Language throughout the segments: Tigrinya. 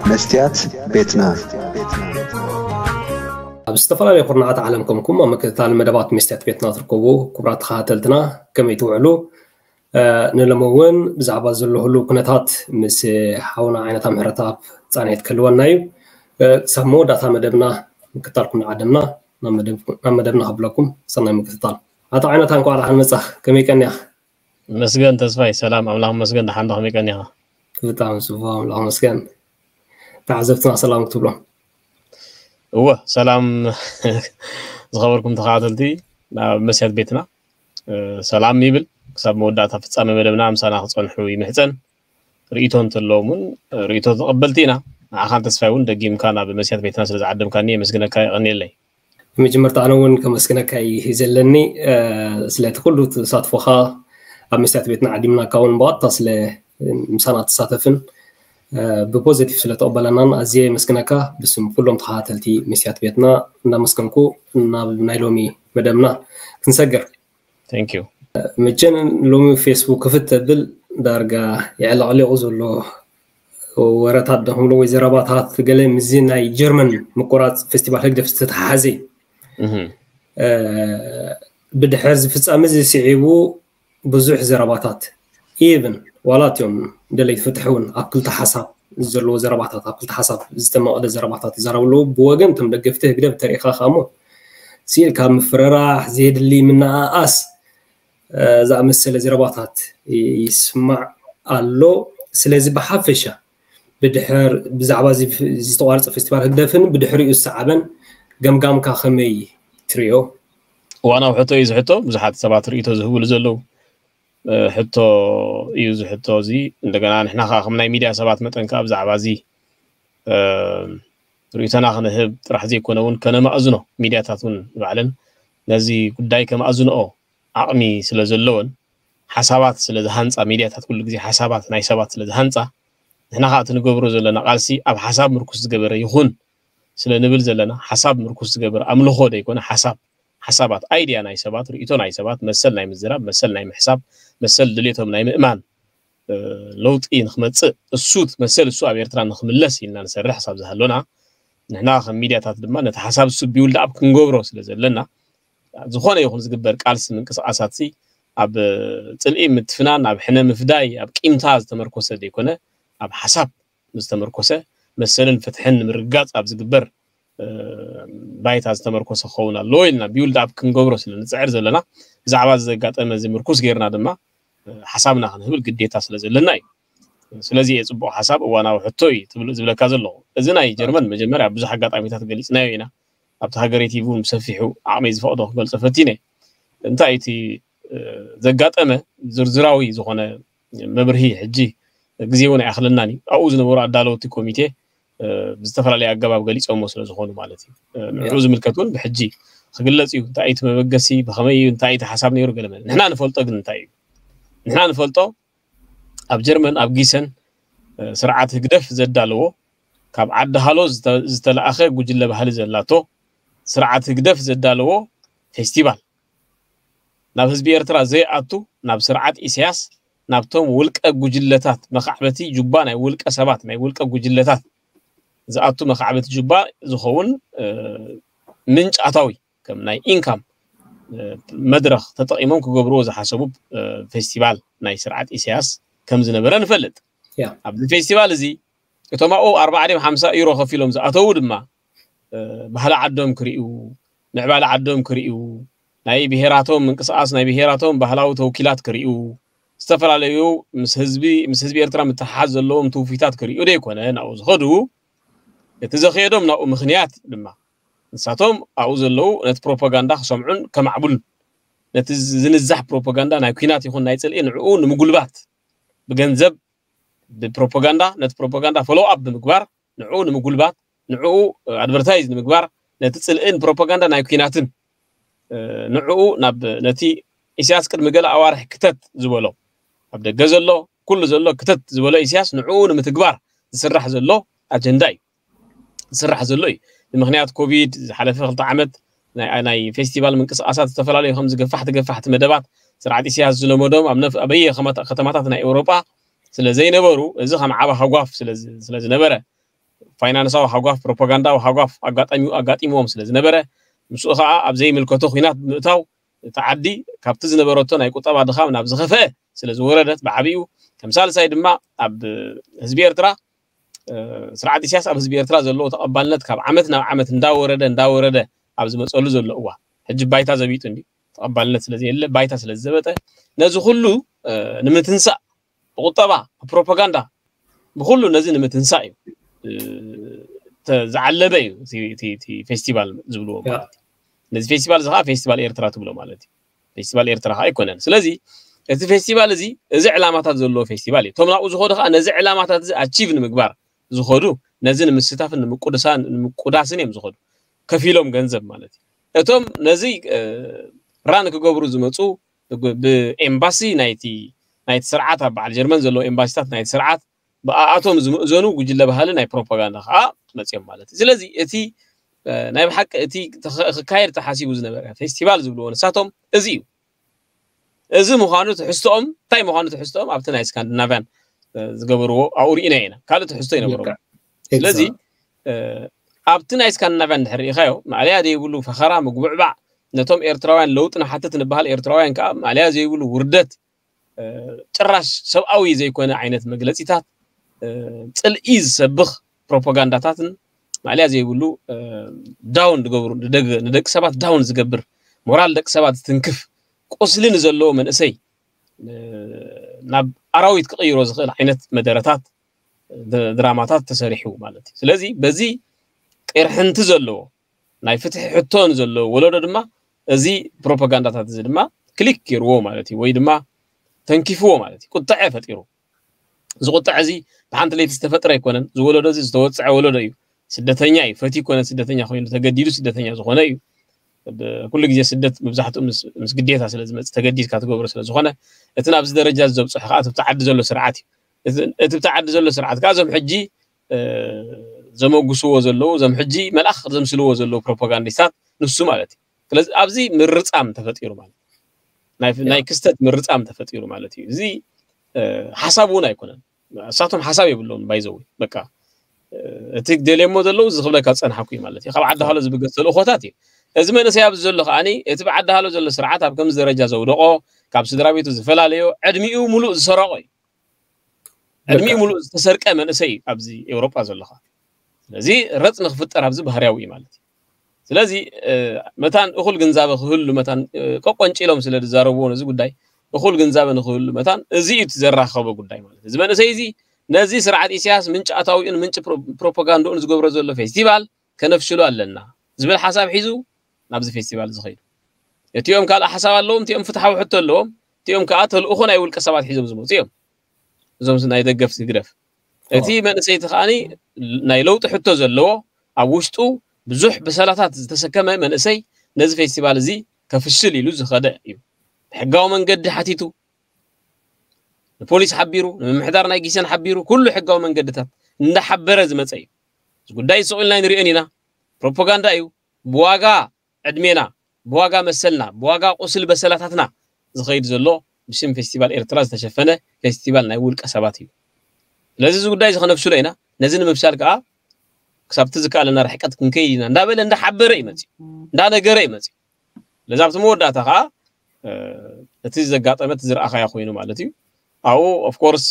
መስትያት ቤትና። ኣብ ዝተፈላለዩ ኩርናዓት ዓለም ከምኩም ኣብ ምክትታል መደባት መስትያት ቤትና ትርከቡ ክቡራት ተኸታተልትና፣ ከመይ ትውዕሉ? እ፣ ንሎሚ እውን ብዛዕባ ዘሎ ህሉው ኩነታት ምስ ሓውና ዓይነታ ምሕረተኣብ ጻንሒት ክህልወና እዩ። እ፣ ክሳብ መወዳእታ መደብና ምክትታልኩም ንዓደምና። ናብ መደብ-፣ ናብ መደብና ከብለኩም ሰናይ ምክትታል። ኣቶ ዓይነታ፣ እንኳዕ ደሓን መጻኽ። ከመይ ቀኒኻ? መስገን ተስፋይ፣ ሰላም ኣምላኽ መስገን። ደሓን ዶ፣ ከመይ ቀኒኻ? ብጣዕሚ ጽቡቕ፣ ኣምላኽ መስገን። ተዓዘብትና ሰላም ክትብሎም። እወ፣ ሰላም ዝኸበርኩም ተኸታተልቲ ናብ መስትያት ቤትና፣ እ፣ ሰላም ይብል። ክሳብ መወዳእታ ፍጻመ መደብና ምሳና ክጸንሑ ይምሕጸን። ርእይቶ እንተለዎም እውን ርእይቶ ተቐበልቲ ኢና። ንዓኻን ተስፋይ እውን ደጊምካ ናብ መስትያት ቤትና ስለ ዝዓደምካኒ የመስግነካ፣ የቐንየለይ። መጀመርታ ኣነ እውን ከመስግነካ እዩ ዘለኒ፣ እ፣ ስለቲ ኩሉ ተሳትፎኻ፣ ኣብ መስትያት ቤትና ዓዲምናካ እውን ብቐጥታ ስለ ምሳና ትሳተፍን፣ እ፣ ብፖዘቲቭ ስለ ተቐበለናን ኣዝየ የመስግነካ። ብስም ኩሎም ተኸታተልቲ መስትያት ቤትና እናመስገንኩ ናብ ናይ ሎሚ መደብና ክንሰግር። Thank you። መቸም ሎሚ ፌስቡክ ክፍት ተብል ዳርጋ የዕለቕሊቑ ዘሎ ወረታት ዶ ክብሎ ወይ ዘረባታት ገለ ምስዚ ናይ ጀርመን ምቁራፅ ፌስቲቫል ህግደፍ ዝተተሓሓዘ እዩ። እህ። እ፣ ብድሕር እዚ ፍጻመ እዚ ስዒቡ ብዙሕ ዘረባታት፣ ኢቭን ዋላ እቲኦም ደለይቲ ፍትሒ እውን ኣብ ክልተ ሓሳብ ዘለዎ ዘረባታት፣ ኣብ ክልተ ሓሳብ ዝተመቐለ ዘረባታት ይዛረቡ ኣለዉ። ብወገን እቶም ደገፍቲ ህግደፍ ተሪኢኻ ከኣ እሞ ስኢል ካብ ምፍርራሕ፣ ዘየድሊ ምንኣኣስ፣ እ፣ ዝኣመሰለ ዘረባታት ይ-፣ ይስማዕ ኣሎ። ስለዚ ብሓፈሻ ብድሕር፣ ብዛዕባ እዚ ፍ-፣ ዝተቋርጸ ፌስቲቫል ህግደፍን ብድሕሪኡ ዝሰዓበን ገምጋምካ ከመይ ትርእዮ? እዋናዊ ሕቶ እዩ እዚ ሕቶ። ብዙሓት ሰባት ርእይቶ ዝህብሉ ዘለዉ፣ እ፣ ሕቶ እዩ እዚ ሕቶ እዚ። እንደገና ንሕና ከኣ ከም ናይ ሚድያ ሰባት መጠን ከኣ ብዛዕባ እዚ፣ እ፣ ርእይቶና ክንህብ ጥራሕ ዘይኮነ እውን ከነማእዝኖ፣ ሚድያታት እውን ባዕለን ነዚ ጉዳይ ከማእዝንኦ ዓቕሚ ስለ ዘለወን፣ ሓሳባት ስለ ዝሃንጻ፣ ሚድያታት ኩሉ ግዜ ሓሳባት ናይ ሰባት ስለ ዝሃንጻ፣ ንሕና ከኣ እቲ ንገብሮ ዘለና ቃልሲ ኣብ ሓሳብ ምርኩስ ዝገበረ ይኹን ስለ ንብል ዘለና፣ ሓሳብ ምርኩስ ዝገበረ፣ ኣምልኾ ዘይኮነ ሓሳብ፣ ሓሳባት፣ ኣይድያ ናይ ሰባት፣ ርእይቶ ናይ ሰባት፣ መሰል ናይ ምዝራብ፣ መሰል ናይ ምሕሳብ፣ መሰል ድሌቶም ናይ ምእማን፣ እ፣ ለውጢ ንክመጽእ፣ እሱ መሰል እሱ ኣብ ኤርትራ ንክምለስ ኢልና ንሰርሕ ክሳብ ዝሃሎና፣ ንሕና ከም ሚድያታት ድማ ነቲ ሓሳብ እሱ ቢውልድ ኣፕ ክንገብሮ ስለ ዘለና፣ ዝኾነ ይኹን ዝግበር ቃልሲ ምንቅስቃሳት ሲ ኣብ ጽልኢ ምትፍናን፣ ኣብ ሕነ ምፍዳይ፣ ኣብ ቂምታ ዝተመርኮሰ ዘይኮነ፣ ኣብ ሓሳብ ዝተመርኮሰ፣ መሰልን ፍትሕን ንምርግጋጽ ኣብ ዝግበር፣ እ፣ ባይታ ዝተመርኮሰ ክኸውን ኣለዎ ኢልና ቢውልድ ኣፕ ክንገብሮ ስለ ንጽዕር ዘለና፣ ብዛዕባ እዚ ዘጋጠመ እዚ ምርኩስ ጌርና ድማ፣ እ፣ ሓሳብና ክንህብል ግዴታ ስለ ዘለና እዩ። ስለዚ እየ ጽቡቕ ሓሳብ፣ እዋናዊ ሕቶ እዩ ትብል-፣ ዝብለካ ዘለኹ። እዚ ናይ ጀርመን መጀመርያ ብዙሕ ኣጋጣሚታት ገሊጽናዮ ኢና። ኣብቲ ሃገረይ ቲቪ እውን ብሰፊሑ ዓቕመይ ዝፈቕዶ ክገልጾ ፈቲነ። እንታይ እቲ፣ እ፣ ዘጋጠመ ዝርዝራዊ ዝኾነ መብርሂ ሕጂ ግዜ እውን ኣይኣኽለናን እዩ። ኣብኡ ዝነበሩ ኣዳለውቲ ኮሚቴ፣ እ፣ ብዝተፈላለየ ኣገባብ ገሊጾሞ ስለ ዝኾኑ ማለት እዩ። እ፣ ንዕኡ ዝምልከት እውን ብሕጂ ክግለጽ እዩ። እንታይ እዩ እቲ መበገሲ፣ ብኸመይ እዩ፣ እንታይ እዩ እቲ ሓሳብ ነይሩ፣ ገለ መለ። ንሕና ንፈልጦ ግን እንታይ እዩ? ንሕና ንፈልጦ ኣብ ጀርመን፣ ኣብ ጊሰን፣ እ፣ ስርዓት ህግደፍ ዘዳለዎ፣ ካብ ዓዲ ሃሎ ዝተ-፣ ዝተለኣኸ ጉጅለ ባህሊ ዘላቶ፣ ስርዓት ህግደፍ ዘዳለዎ ፌስቲቫል፣ ናብ ህዝቢ ኤርትራ ዘይኣቱ፣ ናብ ስርዓት ኢሳያስ፣ ናብቶም ውልቀ ጉጅለታት መኻዕበቲ ጁባ፣ ናይ ውልቀ ሰባት፣ ናይ ውልቀ ጉጅለታት ዝኣቱ መኻዕበቲ ጁባ ዝኸውን፣ እ፣ ምንጪ ኣታዊ፣ ከም ናይ ኢንካም፣ እ፣ መድረኽ ተጠቒሞም ክገብርዎ ዝሓሰቡ፣ እ፣ ፌስቲቫል ናይ ስርዓት ኢሳያስ ከም ዝነበረ ንፈልጥ። ያ። ኣብዚ ፌስቲቫል እዚ እቶም ኣብኡ ኣርባዓ ድዮም ሓምሳ ዩሮ ከፊሎም ዝኣተዉ ድማ፣ እ፣ ባህሊ ዓዶም ክርእዩ፣ ምዕባለ ዓዶም ክርእዩ፣ ናይ ብሄራቶም ምንቅስቓስ፣ ናይ ብሄራቶም ባህላዊ ተውኪላት ክርእዩ፣ ዝተፈላለዩ ምስ ህዝቢ፣ ምስ ህዝቢ ኤርትራ ምትሕሓዝ ዘለዎም ትውፊታት ክርእዩ ደይኮነ ናብኡ ዝኸዱ፣ እቲ ዘኽየዶም ናብኡ ምኽንያት ድማ ንሳቶም ኣብኡ ዘለዉ ነቲ ፕሮፓጋንዳ ክሰምዑን ከማዕብሉን፣ ነቲ ዝንዛሕ ፕሮፓጋንዳ ናይ ኲናት ይኹን ናይ ጽልኢ ንዕኡ ንምጉልባት ብገንዘብ፣ ብፕሮፓጋንዳ፣ ነቲ ፕሮፓጋንዳ ፎሎው ኣፕ ብምግባር፣ ንዕኡ ንምጉልባት፣ ንዕኡ ኣድቨርታይዝ ንምግባር፣ ነቲ ጽልእን ፕሮፓጋንዳ ናይ ኲናትን፣ እ፣ ንዕኡ ናብ ነቲ ኢሳያስ ቅድሚ ገለ ኣዋርሕ ክተት ዝበሎ፣ ኣብ ደገ ዘሎ፣ ኩሉ ዘሎ ክተት ዝበሎ ኢሳያስ ንዕኡ ንምትግባር ዝስራሕ ዘሎ ኣጀንዳ እዩ። ዝስራሕ ዘሎ እዩ። ብምኽንያት ኮቪድ ዝሓለፈ ክልተ ዓመት ናይ፣ ናይ ፌስቲቫል ምንቅስቓሳት ዝተፈላለዩ ከምዚ ገፋሕቲ ገፋሕቲ መደባት ስርዓት ኢሳያስ ዝለመዶም ኣብ ነፍ-፣ ኣበየ ከማታ-፣ ከተማታት ናይ ኤውሮጳ ስለ ዘይነበሩ፣ እዚ ከም ዓቢ ሃጓፍ ስለ ዝ-፣ ስለ ዝነበረ፣ ፋይናንሳዊ ሃጓፍ፣ ፕሮፓጋንዳዊ ሃጓፍ ኣጋጣሚኡ ኣጋጢምዎም ስለ ዝነበረ፣ ምስኡ ከዓ ኣብ ዘይምልከቶ ኲናት ብምእታው፣ እቲ ዓዲ ካብቲ ዝነበረቶ ናይ ቁጠባ ድኻም ናብ ዝኸፍአ ስለ ዝወረደት፣ ብዓቢኡ ከም ሳልሳይ ድማ ኣብ ህዝቢ ኤርትራ፣ ስርዓት ኢሳያስ ኣብ ህዝቢ ኤርትራ ዘለዎ ተቐባልነት ካብ ዓመት ናብ ዓመት እንዳወረደ እንዳወረደ ኣብ ዝመፀሉ ዘሎ እዋን፣ ሕጂ ባይታ ዘቢጡ እንዲ ተቐባልነት ስለ ዘየለ፣ ባይታ ስለ ዝዘበጠ፣ ነዚ ኩሉ ንምትንሳእ፣ ብቁጠባ፣ ብፕሮፓጋንዳ፣ ብኩሉ ነዚ ንምትንሳእ እዩ ዝዓለበ እዩ እቲ ፌስቲቫል ዝብልዎ ማለት እዩ። ነዚ ፌስቲቫል እዚ ከዓ ፌስቲቫል ኤርትራ ትብሎ ማለት እዩ። ፌስቲቫል ኤርትራ ከዓ ኣይኮነን። ስለዚ እቲ ፌስቲቫል እዚ፣ እዚ ዕላማታት ዘለዎ ፌስቲቫል እዩ። እቶም ናብኡ ዝኸዱ ከዓ ነዚ ዕላማታት እዚ ኣቺቭ ንምግባር ዝኸዱ፣ ነዚ ንምስታፍን ንምቁድሳን ንምቁዳስን እዮም ዝኸዱ፣ ከፊሎም ገንዘብ ማለት እዩ። እቶም ነዚ ራን ክገብሩ ዝመፁ ብኤምባሲ ናይቲ ናይቲ ስርዓት፣ ኣብ በዓል ጀርመን ዘለዉ ኤምባሲታት ናይቲ ስርዓት ብኣኣቶም ዝምእዘኑ ጉጅለ ባህሊ ናይ ፕሮፓጋንዳ ከዓ መፅኦም ማለት እዩ። ስለዚ እቲ ናይ ብሓቂ እቲ ክካየድ ተሓሲቡ ዝነበረ ፌስቲቫል ዝብልዎ ንሳቶም እዚ እዩ። እዚ ምዃኑ ትሕዝቶኦም፣ እንታይ ምዃኑ ትሕዝቶኦም ኣብቲ ናይ ስካንዲናቭያን ዝገበርዎ ኣብኡ ርኢና ኢና። ካልእ ትሕዝቶ ይነበሮም። ስለዚ ኣብቲ ናይ ስካንዲናቭያን ድሕሪ ርኢኻዮ፣ ማእለያ ዘይብሉ ፈኸራ፣ ምጉብዕባዕ፣ ነቶም ኤርትራውያን ለውጢ ንሓትት ንበሃል ኤርትራውያን ከዓ ማእለያ ዘይብሉ ውርደት፣ ጭራሽ ሰብኣዊ ዘይኮነ ዓይነት መግለጺታት፣ ጽልኢ ዝሰብኽ ፕሮፓጋንዳታትን ማእለያ ዘይብሉ ዳውን ዝገብሩ፣ ንደቂ ሰባት ዳውን ዝገብር፣ ሞራል ደቂ ሰባት ዝትንክፍ፣ ቁስሊ ንዘለዎ መንእሰይ ናብ ኣራዊት ክቕይሮ ዝኽእል ዓይነት መደረታት፣ ድራማታት ተሰሪሑ ማለት እዩ። ስለዚ በዚ ቅርሕንቲ ዘለዎ ናይ ፍትሒ ሕቶ ንዘለዎ ወለዶ ድማ እዚ ፕሮፓጋንዳታት እዚ ድማ ክሊክ ገይርዎ ማለት እዩ፣ ወይ ድማ ተንኪፍዎ ማለት እዩ። ቁጥዐ ፈጢሩ። እዚ ቁጥዐ እዚ ብሓንቲ ለይቲ ዝተፈጥረ ኣይኮነን። እዚ ወለዶ እዚ ዝተወፅዐ ወለዶ እዩ። ስደተኛ እዩ። ፈትዩ ኮነ ስደተኛ ኮይኑ፣ ተገዲዱ ስደተኛ ዝኾነ እዩ። ኩሉ ግዜ ስደት መብዛሕትኡ ምስ ግዴታ ስለ ዝመፅእ፣ ተገዲድካ ትገብሮ ስለ ዝኾነ፣ እቲ ናብዚ ደረጃ ዘብፅሖ ከዓ እቲ ብቲ ዓዲ ዘሎ ስርዓት እዩ። እቲ ብቲ ዓዲ ዘሎ ስርዓት ከዓ እዞም ሕጂ ዘመጉስዎ ዘለዉ፣ እዞም ሕጂ መልኣኽ ዘምስልዎ ዘለዉ ፕሮፓጋንዲስታት ንሱ ማለት እዩ። ስለዚ ኣብዚ ምርጻም ተፈጢሩ ማለት፣ ናይ ክስተት ምርጻም ተፈጢሩ ማለት እዩ። እዚ ሓሳብ እውን ኣይኮነን። እሳቶም ሓሳብ የብሎም ባይዘው። በቃ እቲ ደልየሞ ዘለዉ እዚ ክብለካ ዝጸናሕኩ እዩ ማለት እዩ። ካብ ዓዲ ሃሎ ዝብገስ ተልእኾታት እዩ። እዚ መንእሰይ ኣብዚ ዘሎ ከዓኒ እቲ ብዓዲ ሃሎ ዘሎ ስርዓት ኣብ ከምዚ ደረጃ ዘውደቆ፣ ካብ ስድራ ቤቱ ዝፈላለዮ፣ ዕድሚኡ ሙሉእ ዝሰረቆ እዩ። ዕድሚኡ ሙሉእ ዝተሰርቀ መንእሰይ እዩ ኣብዚ ኤውሮጳ ዘለኻ። ስለዚ ረጽ ንክፍጠር ኣብዚ ባህርያዊ እዩ ማለት እዩ። ስለዚ መታን እኹል ግንዛበ ክህሉ መታን፣ ቆቆንጭሎም ስለ ዝዛረብዎ ነዚ ጉዳይ፣ እኹል ግንዛበ ንክህሉ መታን እዚ እዩ እቲ ዘራኸቦ ጉዳይ ማለት እዩ። እዚ መንእሰይ እዚ ነዚ ስርዓት ኢሳያስ ምንጪ ኣታዊኡን ምንጪ ፕሮፓጋንድኡን ዝገብሮ ዘሎ ፌስቲቫል ከነፍሽሎ ኣለና ዝብል ሓሳብ ሒዙ ናብዚ ፌስቲቫል ዝኸይዱ። እቲኦም ካልእ ሓሳብ ኣለዎም፣ እቲኦም ፍትሓዊ ሕቶ ኣለዎም፣ እቲኦም ከዓ ተልእኾ ናይ ውልቀ ሰባት ሒዞም ዝመፁ እዮም። እዞም ናይ ደገፍቲ ህግደፍ። እቲ መንእሰይ እቲ ከዓኒ ናይ ለውጢ ሕቶ ዘለዎ፣ ኣብ ውሽጡ ብዙሕ በሰላታት ዝተሰከመ መንእሰይ ነዚ ፌስቲቫል እዚ ከፍሽል ኢሉ ዝኸደ እዩ። ብሕጋዊ መንገዲ ሓቲቱ፣ ንፖሊስ ሓቢሩ፣ ንምምሕዳር ናይ ጊሰን ሓቢሩ፣ ኩሉ ሕጋዊ መንገድታት እንዳሓበረ ዝመፀ እዩ። እዚ ጉዳይ ስቕ ኢልና ንሪኦን ኢና። ፕሮፓጋንዳ እዩ። ብዋጋ ዕድሜና፣ ብዋጋ መሰልና፣ ብዋጋ ቁስል በሰላታትና ዝኸይድ ዘሎ ብሽም ፌስቲቫል ኤርትራ ዝተሸፈነ ፌስቲቫል ናይ ውልቀ ሰባት እዩ። ስለዚ እዚ ጉዳይ እዚ ከነፍሽሎ ኢና። ነዚ ንምፍሻል ከዓ ክሳብቲ ዝከኣለና ርሕቀት ክንከይድ ኢና እንዳበለ እንዳሓበረ እዩ መፅዩ፣ እንዳነገረ እዩ መፅዩ። ስለዚ ኣብቲ መወዳእታ ከዓ እቲ ዘጋጠመ እቲ ዝረኣኻዮ ኮይኑ ማለት እዩ። ኣብኡ ኦፍኮርስ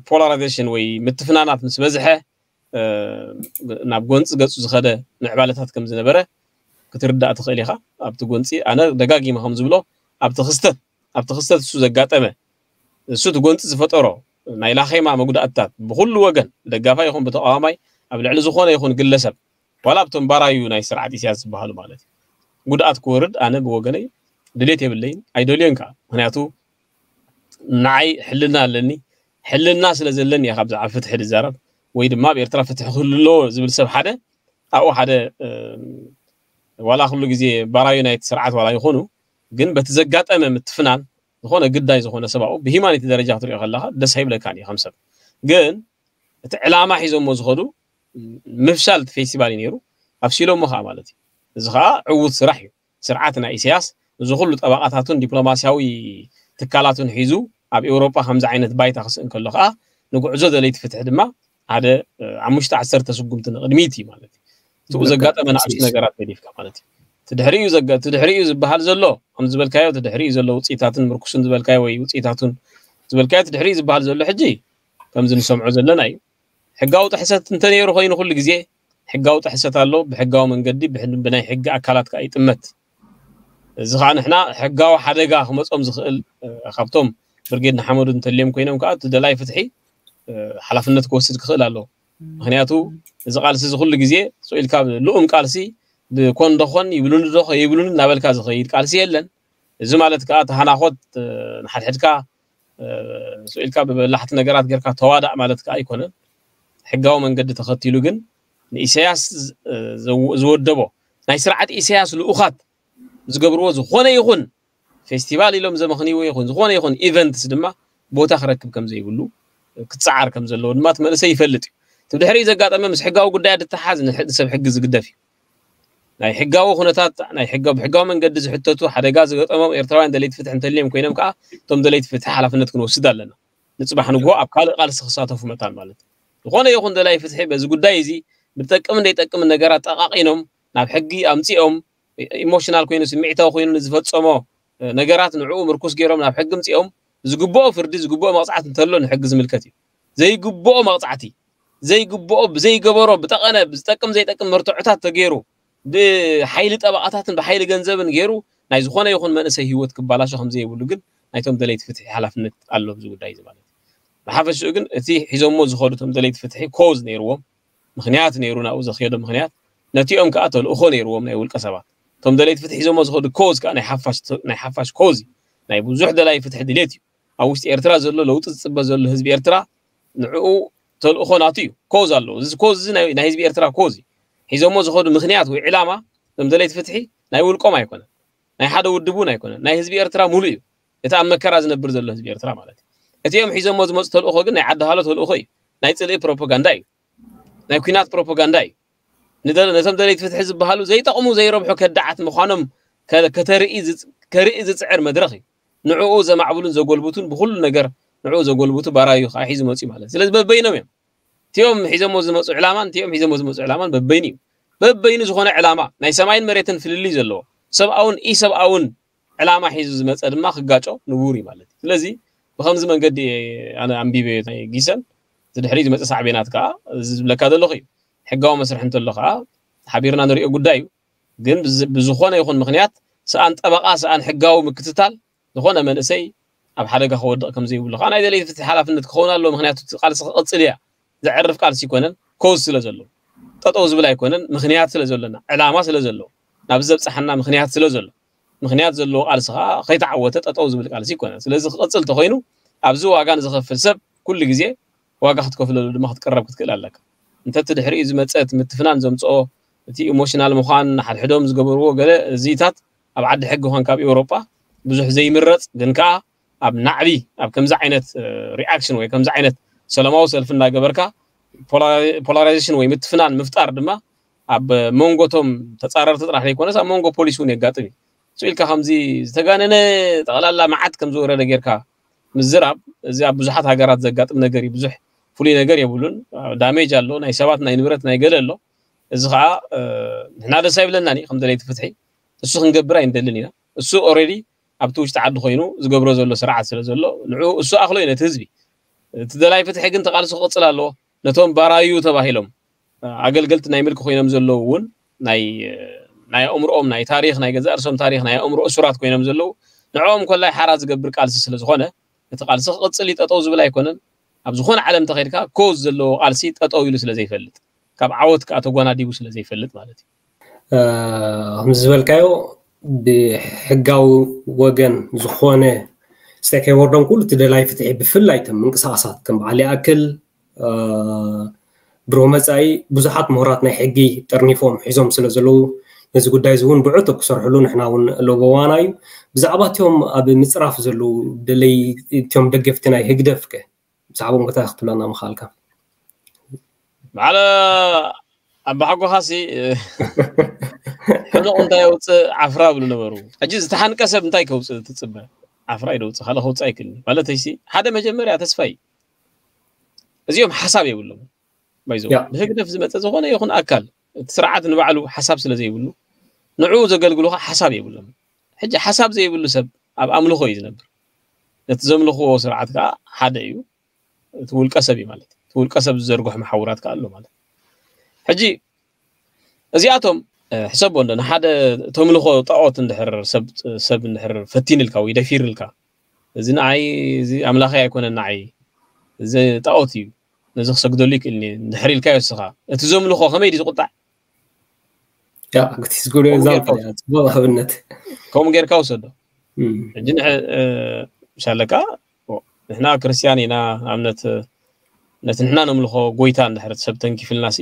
ፖላራይዜሽን ወይ ምትፍናናት ምስ በዝሐ ናብ ጎንፂ ገፁ ዝኸደ ምዕባለታት ከም ዝነበረ ክትርዳእ ትኽእል ኢኻ። ኣብቲ ጎንፂ ኣነ ደጋጊመ ከም ዝብሎ ኣብቲ ክስተት ኣብቲ ክስተት እሱ ዘጋጠመ እሱ እቲ ጎንፂ ዝፈጠሮ ናይ ላኼማ መጉዳእትታት ብኩሉ ወገን ብደጋፋይ ይኹን ብተቃዋማይ ኣብ ልዕሊ ዝኾነ ይኹን ግለሰብ ዋላ ኣብቶም ባራዩ ናይ ስርዓት ኢሳያስ ዝበሃሉ ማለት እዩ ጉድኣት ክወርድ ኣነ ብወገነይ ድሌት የብለይን ኣይደልዮን ከዓ ምክንያቱ ንዓይ ሕልና ኣለኒ ሕልና ስለ ዘለኒ እየ ካብ ብዛዕባ ፍትሒ ዝዛረብ ወይ ድማ ኣብ ኤርትራ ፍትሒ ክህሉ ኣለዎ ዝብል ሰብ ሓደ ኣብኡ ሓደ ዋላ ኩሉ ግዜ ባራዩ ናይቲ ስርዓት ዋላ ይኾኑ ግን በቲ ዘጋጠመ ምትፍናን ዝኾነ ግዳይ ዝኾነ ሰብ ኣብኡ ብሂማኒቲ ደረጃ ክትሪኦ ከለካ ደስ ኣይብለካን እዩ ከም ሰብ ግን እቲ ዕላማ ሒዞሞ ዝኸዱ ምፍሻል እቲ ፌስቲቫል እዩ ነይሩ ኣፍሲሎሞ ከዓ ማለት እዩ እዚ ከዓ ዕዉት ስራሕ እዩ ስርዓት ናይ ኢሳያስ እዚ ኩሉ ጠበቓታቱን ዲፕሎማስያዊ ትካላቱን ሒዙ ኣብ ኤውሮጳ ከምዚ ዓይነት ባይታ ክስእን ከሎ ከዓ ንጉዕዞ ደለይቲ ፍትሒ ድማ ሓደ ኣሙሽተ ዓሰርተ ስጉምቲ ንቕድሚት እዩ ማለት እዩ። ትኡ ዘጋጠመ ንኣሽቱ ነገራት ገዲፍካ ማለት እዩ። ትድሕሪኡ ትድሕሪኡ ዝበሃል ዘሎ ከም ዝበልካዮ ትድሕሪኡ ዘሎ ውፅኢታትን ምርኩስን ዝበልካዮ ወይ ውፅኢታቱን ዝበልካዮ ትድሕሪኡ ዝበሃል ዘሎ ሕጂ ከምዚ ንሰምዖ ዘለና እዩ። ሕጋዊ ጥሕሰት እንተነይሩ ኮይኑ ኩሉ ግዜ ሕጋዊ ጥሕሰት ኣሎ። ብሕጋዊ መንገዲ ብናይ ሕጊ ኣካላት ከዓ ይጥመት። እዚ ከዓ ንሕና ሕጋዊ ሓደጋ ክመፆም ዝኽእል ካብቶም ብርጌድ ንሓመዱ እንተልዮም ኮይኖም ከዓ እቲ ደላይ ፍትሒ ሓላፍነት ክወስድ ክኽእል ኣለዎ። ምክንያቱ እዚ ቃልሲ እዚ ኩሉ ግዜ ስኢልካ ልኡም ቃልሲ ብኮን ዶኾን ይብሉኒ ዶ ይብሉኒ እናበልካ ዝኸይድ ቃልሲ የለን። እዚ ማለት ከዓ ተሃናኾት ንሓድሕድካ ስኢልካ ብበላሕቲ ነገራት ጌርካ ተዋዳእ ማለት ከዓ ኣይኮነን። ሕጋዊ መንገዲ ተኸቲሉ ግን ንኢሳያስ ዝወደቦ ናይ ስርዓት ኢሳያስ ልኡኻት ዝገብርዎ ዝኾነ ይኹን ፌስቲቫል ኢሎም ዘመኽንይዎ ይኹን ዝኾነ ይኹን ኢቨንትስ ድማ ቦታ ክረክብ ከም ዘይብሉ ክፀዓር ከም ዘለዎ ድማ እቲ መንእሰይ ይፈልጥ እዩ። እቲ ብድሕሪኡ ዘጋጠመ ምስ ሕጋዊ ጉዳያት ዝተሓዝ ንሰብ ሕጊ ዝግደፍ እዩ። ናይ ሕጋዊ ኩነታት ናይ ሕጋዊ ብሕጋዊ መንገዲ ዝሕተቱ ሓደጋ ዝገጠሞም ኤርትራውያን ደለይቲ ፍትሒ እንተልዮም ኮይኖም ከዓ እቶም ደለይቲ ፍትሒ ሓላፍነት ክንወስድ ኣለና። ንፅባሕ ንግሆ ኣብ ካልእ ቃልሲ ክሳተፉ መታን ማለት እዩ። ዝኾነ ይኹን ደላይ ፍትሒ በዚ ጉዳይ እዚ ብጠቅምን ዘይጠቅምን ነገራት ጠቃቂኖም ናብ ሕጊ ኣምፂኦም ኢሞሽናል ኮይኑ ስምዒታዊ ኮይኑ ንዝፈፀሞ ነገራት ንዕኡ ምርኩስ ገይሮም ናብ ሕጊ ምፂኦም ዝግብኦ ፍርዲ ዝግብኦ መቕፃዕቲ እንተሎ ንሕጊ ዝምልከት እዩ። ዘይግብኦ መቕፃዕቲ ዘይግብኦ ብዘይገበሮ ብጠቐነ ዝጠቅም ዘይጠቅም መርትዖታት ተገይሩ ብሓይሊ ጠበቓታትን ብሓይሊ ገንዘብን ገይሩ ናይ ዝኾነ ይኹን መንእሰይ ህይወት ክባላሾ ከምዘይብሉ ግን ናይቶም ደለይቲ ፍትሒ ሓላፍነት ኣሎ ኣብዚ ጉዳይ እዚ ማለት እዩ። ብሓፈሽኡ ግን እቲ ሒዞሞ ዝኸዱ እቶም ደለይቲ ፍትሒ ኮዝ ነይርዎም ምክንያት ነይሩ ናብኡ ዘኽየዶ ምክንያት ነቲኦም ከዓ ተልእኾ ነይርዎም ናይ ውልቀ ሰባት እቶም ደለይቲ ፍትሒ ሒዞሞ ዝኸዱ ኮዝ ከዓ ናይ ሓፋሽ ኮዝ ናይ ብዙሕ ደላይ ፍትሒ ድሌት እዩ። ኣብ ውሽጢ ኤርትራ ዘሎ ለውጢ ዝፅበ ዘሎ ህዝቢ ኤርትራ ንዕኡ ተልእኾ ናቱ እዩ። ኮዝ ኣለዎ። እዚ ኮዝ እዚ ናይ ህዝቢ ኤርትራ ኮዝ እዩ። ሒዞሞ ዝኸዱ ምክንያት ወይ ዕላማ እዞም ደለይቲ ፍትሒ ናይ ውልቆም ኣይኮነን፣ ናይ ሓደ ውድብ እውን ኣይኮነን፣ ናይ ህዝቢ ኤርትራ ሙሉእ እዩ። እቲ ኣብ መከራ ዝነብር ዘሎ ህዝቢ ኤርትራ ማለት እዩ። እቲኦም ሒዞሞ ዝመፁ ተልእኾ ግን ናይ ዓዲ ሃሎ ተልእኾ እዩ። ናይ ፅልኢ ፕሮፓጋንዳ እዩ። ናይ ኩናት ፕሮፓጋንዳ እዩ። ነቶም ደለይቲ ፍትሒ ዝበሃሉ ዘይጠቕሙ ዘይረብሑ ከዳዓት ምዃኖም ከርኢ ዝፅዕር መድረኽ እዩ። ንዕኡ ዘማዕብሉን ዘጎልብቱን ብኩሉ ነገር ንዕኡ ዘጎልብቱ ባራዩ ከዓ ሒዙ መፅዩ ማለት ስለዚ በበይኖም እዮም። እቲኦም ሒዞሞ ዝመፁ ዕላማን እቲኦም ሒዞሞ ዝመፁ ዕላማን በበይኑ እዩ። በበይኑ ዝኾነ ዕላማ ናይ ሰማይን መሬትን ፍልልይ ዘለዎ ሰብኣውን ኢሰብኣውን ዕላማ ሒዙ ዝመፀ ድማ ክጋጮ ንቡር እዩ ማለት እዩ። ስለዚ ብከምዚ መንገዲ ኣነ ኣንቢበ ናይ ጊሰን ዝድሕሪ ዝመፀ ሳዕቤናት ከዓ እዚ ዝብለካ ዘለኹ እዩ። ሕጋዊ መስርሒ እንተሎ ከዓ ሓቢርና ንሪኦ ጉዳይ እዩ። ግን ብዝኾነ ይኹን ምክንያት ሰኣን ጠበቃ ሰኣን ሕጋዊ ምክትታል ዝኾነ መንእሰይ ኣብ ሓደጋ ክወድቕ ከም ዘይብሉ ከዓ ናይ ደለይቲ ፍትሒ ሓላፍነት ክኸውን ኣለዎ። ምክንያቱ እቲ ቃልሲ ክቕፅል እያ ዘዕርፍ ቃልሲ ኣይኮነን። ኮዝ ስለ ዘሎ ጠጠው ዝብል ኣይኮነን። ምክንያት ስለ ዘሎና ዕላማ ስለ ዘሎ ናብዚ ዘብፅሓና ምክንያት ስለ ዘሎ ምክንያት ዘለዎ ቃልሲ ከዓ ከይተዓወተ ጠጠው ዝብል ቃልሲ ኣይኮነን። ስለዚ ክቕፅል ተኮይኑ ኣብዚ ዋጋ ንዝኸፍል ሰብ ኩሉ ግዜ ዋጋ ክትከፍለሉ ድማ ክትቅረብ ክትክእል ኣለካ። እንተ እቲ ድሕሪኡ ዝመፀ እቲ ምትፍናን ዘምፅኦ እቲ ኢሞሽናል ምዃን ንሓድሕዶም ዝገበርዎ ገለ እዚታት ኣብ ዓዲ ሕጊ ኮንካ ኣብ ኤውሮጳ ብዙሕ ዘይምረፅ ግን ከዓ ኣብ ናዕቢ ኣብ ከምዚ ዓይነት ሪኣክሽን ወይ ከምዚ ዓይነት ሰላማዊ ሰልፊ እናገበርካ ፖላራይዜሽን ወይ ምትፍናን ምፍጣር ድማ ኣብ መንጎቶም ተፃረርቲ ጥራሕ ዘይኮነስ ኣብ መንጎ ፖሊስ እውን የጋጥም እዩ። ስኢልካ ከምዚ ዝተጋነነ ጠቕላላ መዓት ከም ዝወረደ ጌርካ ምዝራብ እዚ ኣብ ብዙሓት ሃገራት ዘጋጥም ነገር እዩ። ብዙሕ ፍሉይ ነገር የብሉን። ዳሜጅ ኣሎ፣ ናይ ሰባት ናይ ንብረት ናይ ገለ ኣሎ። እዚ ከዓ ንሕና ደስ ኣይብለናን እዩ። ከም ደለይቲ ፍትሒ እሱ ክንገብር ኣይንደልን ኢና። እሱ ኦልሬዲ ኣብቲ ውሽጢ ዓዲ ኮይኑ ዝገብሮ ዘሎ ስርዓት ስለ ዘሎ ንዑ እሱ ኣኽሎ እዩ ነቲ ህዝቢ። እቲ ደላይ ፍትሒ ግን ተቃልሶ ክቕፅል ኣለዎ። ነቶም ባራዩ ተባሂሎም ኣገልገልቲ ናይ ምልኪ ኮይኖም ዘለዉ እውን ናይ ናይ ኣእምሮኦም ናይ ታሪክ ናይ ገዛእ ርእሶም ታሪክ ናይ ኣእምሮ እሱራት ኮይኖም ዘለዉ ንዕኦም ኮላይ ሓራ ዝገብር ቃልሲ ስለ ዝኾነ እቲ ቃልሲ ክቕፅል እዩ። ጠጠው ዝብል ኣይኮነን። ኣብ ዝኾነ ዓለም እንተኸድካ ኮዝ ዘለዎ ቃልሲ ጠጠው ኢሉ ስለ ዘይፈልጥ ካብ ዓወት ከዓ ተጓናዲቡ ስለ ዘይፈልጥ ማለት እዩ። ከምዚ ዝበልካዮ ብሕጋዊ ወገን ዝኾነ ስቴክሆልደሮም ኩሉ እቲ ደላይ ፍትሒ ብፍላይ እቶም ምንቅስቃሳት ከም በዓል ይኣክል ብሩህ መፃኢ ብዙሓት ምሁራት ናይ ሕጊ ጠርኒፎም ሒዞም ስለ ዘለዉ ነዚ ጉዳይ እዚ እውን ብዕቱብ ክሰርሕሉ ንሕና እውን ለበዋና እዩ። ብዛዕባ እቲኦም ኣብ ምፅራፍ ዘለዉ ደለይ እቲኦም ደገፍቲ ናይ ህግደፍ ከ ብዛዕባኦም እንታይ ክትብለና ምኻልካ? በዓል ኣባሓጎኻሲ ሕኑቕ እንታይ የውፅእ ዓፍራ ብሉ ነበሩ። ሕጂ ዝተሓንቀ ሰብ እንታይ ከውፅእ ትፅበ? ዓፍራ ይደውፅእ ካልእ ከውፅእ ኣይክልኒ ማለተይሲ ሓደ መጀመርያ ተስፋይ እዚኦም ሓሳብ የብሎም። ባይዘው ብህግደፍ ዝመፀ ዝኾነ ይኹን ኣካል እቲ ስርዓት ንባዕሉ ሓሳብ ስለ ዘይብሉ ንዕኡ ዘገልግሉ ከዓ ሓሳብ የብሎም። ሕጂ ሓሳብ ዘይብሉ ሰብ ኣብ ኣምልኾ እዩ ዝነብር። ነቲ ዘምልኽዎ ስርዓት ከዓ ሓደ እዩ፣ እቲ ውልቀ ሰብ እዩ ማለት። እቲ ውልቀ ሰብ ዝዘርግሖ መሓውራት ከዓ ኣሎ ማለት። ሕጂ እዚኣቶም ሕሰቦ እንዶ ንሓደ ተምልኾ ጣዖት እንድሕር ሰብ ሰብ እንድሕር ፈቲንልካ ወይ ደፊርልካ፣ እዚ ንዓይ፣ እዚ ኣምላኸይ ኣይኮነን፣ ንዓይ እዚ ጣዖት እዩ፣ ነዚ ክሰግደሉ ይክእልኒ እንድሕር ኢልካዮ እስኻ፣ እቲ ዘምልኾ ከመይ ድዩ ዝቁጣዕ? ያ እቲ ዝጎደ ዛልካ ጽቡቅ ኣብነት ከምኡ ጌርካ ውሰዶ። ሕጂ ምሻለካ ንሕና ክርስትያን ኢና፣ ኣብነት ነቲ ንሕና ነምልኾ ጎይታ እንድሕር ሰብ ተንኪፍልና ሲ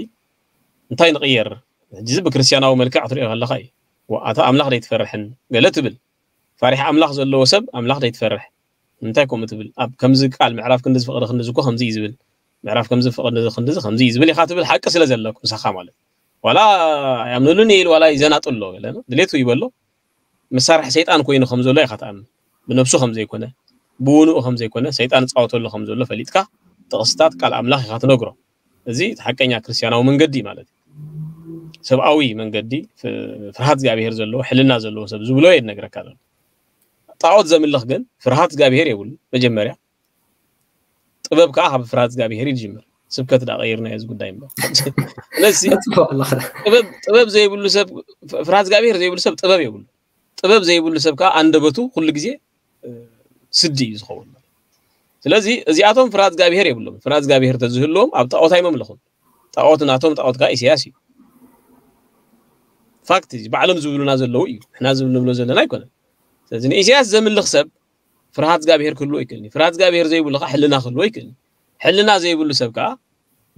እንታይ ንቕየር? ሕጂ እዚ ብክርስትያናዊ መልክዕ ክትሪኦ ከለካ እዩ። ኣታ ኣምላኽ ደይትፈርሕን ገለ ትብል። ፋሪሕ ኣምላኽ ዘለዎ ሰብ ኣምላኽ ደይትፈርሕ። እንታይ ከምኡ ትብል? ኣብ ከምዚ ቃል ምዕራፍ ክንዲ ዝፈቕደ ክንዲ ዝኮ ከምዚ እዩ ዝብል፣ ምዕራፍ ከምዚ ፈቕደ ክንዲ ከምዚ እዩ ዝብል ኢኻ ትብል። ሓቂ ስለ ዘለኩ ምሳኻ ማለት ዋላ ያምንሉን ኢል ዋላ ይዘናጥሎ ገለ ድሌቱ ይበሎ። መሳርሒ ሰይጣን ኮይኑ ከም ዘሎ ኢኻ ትኣምን። ብነብሱ ከም ዘይኮነ፣ ብውንኡ ከም ዘይኮነ፣ ሰይጣን ዝጻወተሉ ከም ዘሎ ፈሊጥካ ጥቕስታት ቃል ኣምላኽ ኢኻ ትነግሮ። እዚ እቲ ሓቀኛ ክርስትያናዊ መንገዲ ማለት እዩ። ሰብኣዊ መንገዲ፣ ፍርሃት እግዚኣብሔር ዘለዎ፣ ሕልና ዘለዎ ሰብ ዝብሎ እየ ዝነግረካ ዘሎ። ጣዖት ዘምልኽ ግን ፍርሃት እግዚኣብሔር የብሉ። መጀመርያ ጥበብ ከዓ ካብ ፍርሃት እግዚኣብሔር ይጅምር። ስብከት ዳ ቀይርና እዚ ጉዳይ እምበር ስለዚ ጥበብ ዘይብሉ ሰብ፣ ፍርሃት እግዚኣብሔር ዘይብሉ ሰብ ጥበብ የብሉ። ጥበብ ዘይብሉ ሰብ ከዓ ኣንደበቱ ኩሉ ግዜ ስዲ እዩ ዝኸውን። ስለዚ እዚኣቶም ፍርሃት እግዚኣብሔር የብሎም። ፍርሃት እግዚኣብሔር ተዝህልዎም ኣብ ጣዖት ኣይመምለኹን። ጣዖት ናቶም ጣዖት ከዓ ኢሳያስ እዩ። ፋክት ባዕሎም ዝብሉና ዘለዉ እዩ። ንሕና ዝብል ንብሎ ዘለና ኣይኮነን። ስለዚ ንኢሳያስ ዘምልኽ ሰብ ፍርሃት እግዚኣብሔር ክህልዎ ይክእልኒ። ፍርሃት እግዚኣብሔር ዘይብሉ ከዓ ሕልና ክህልዎ ይክእልኒ። ሕልና ዘይብሉ ሰብ ከዓ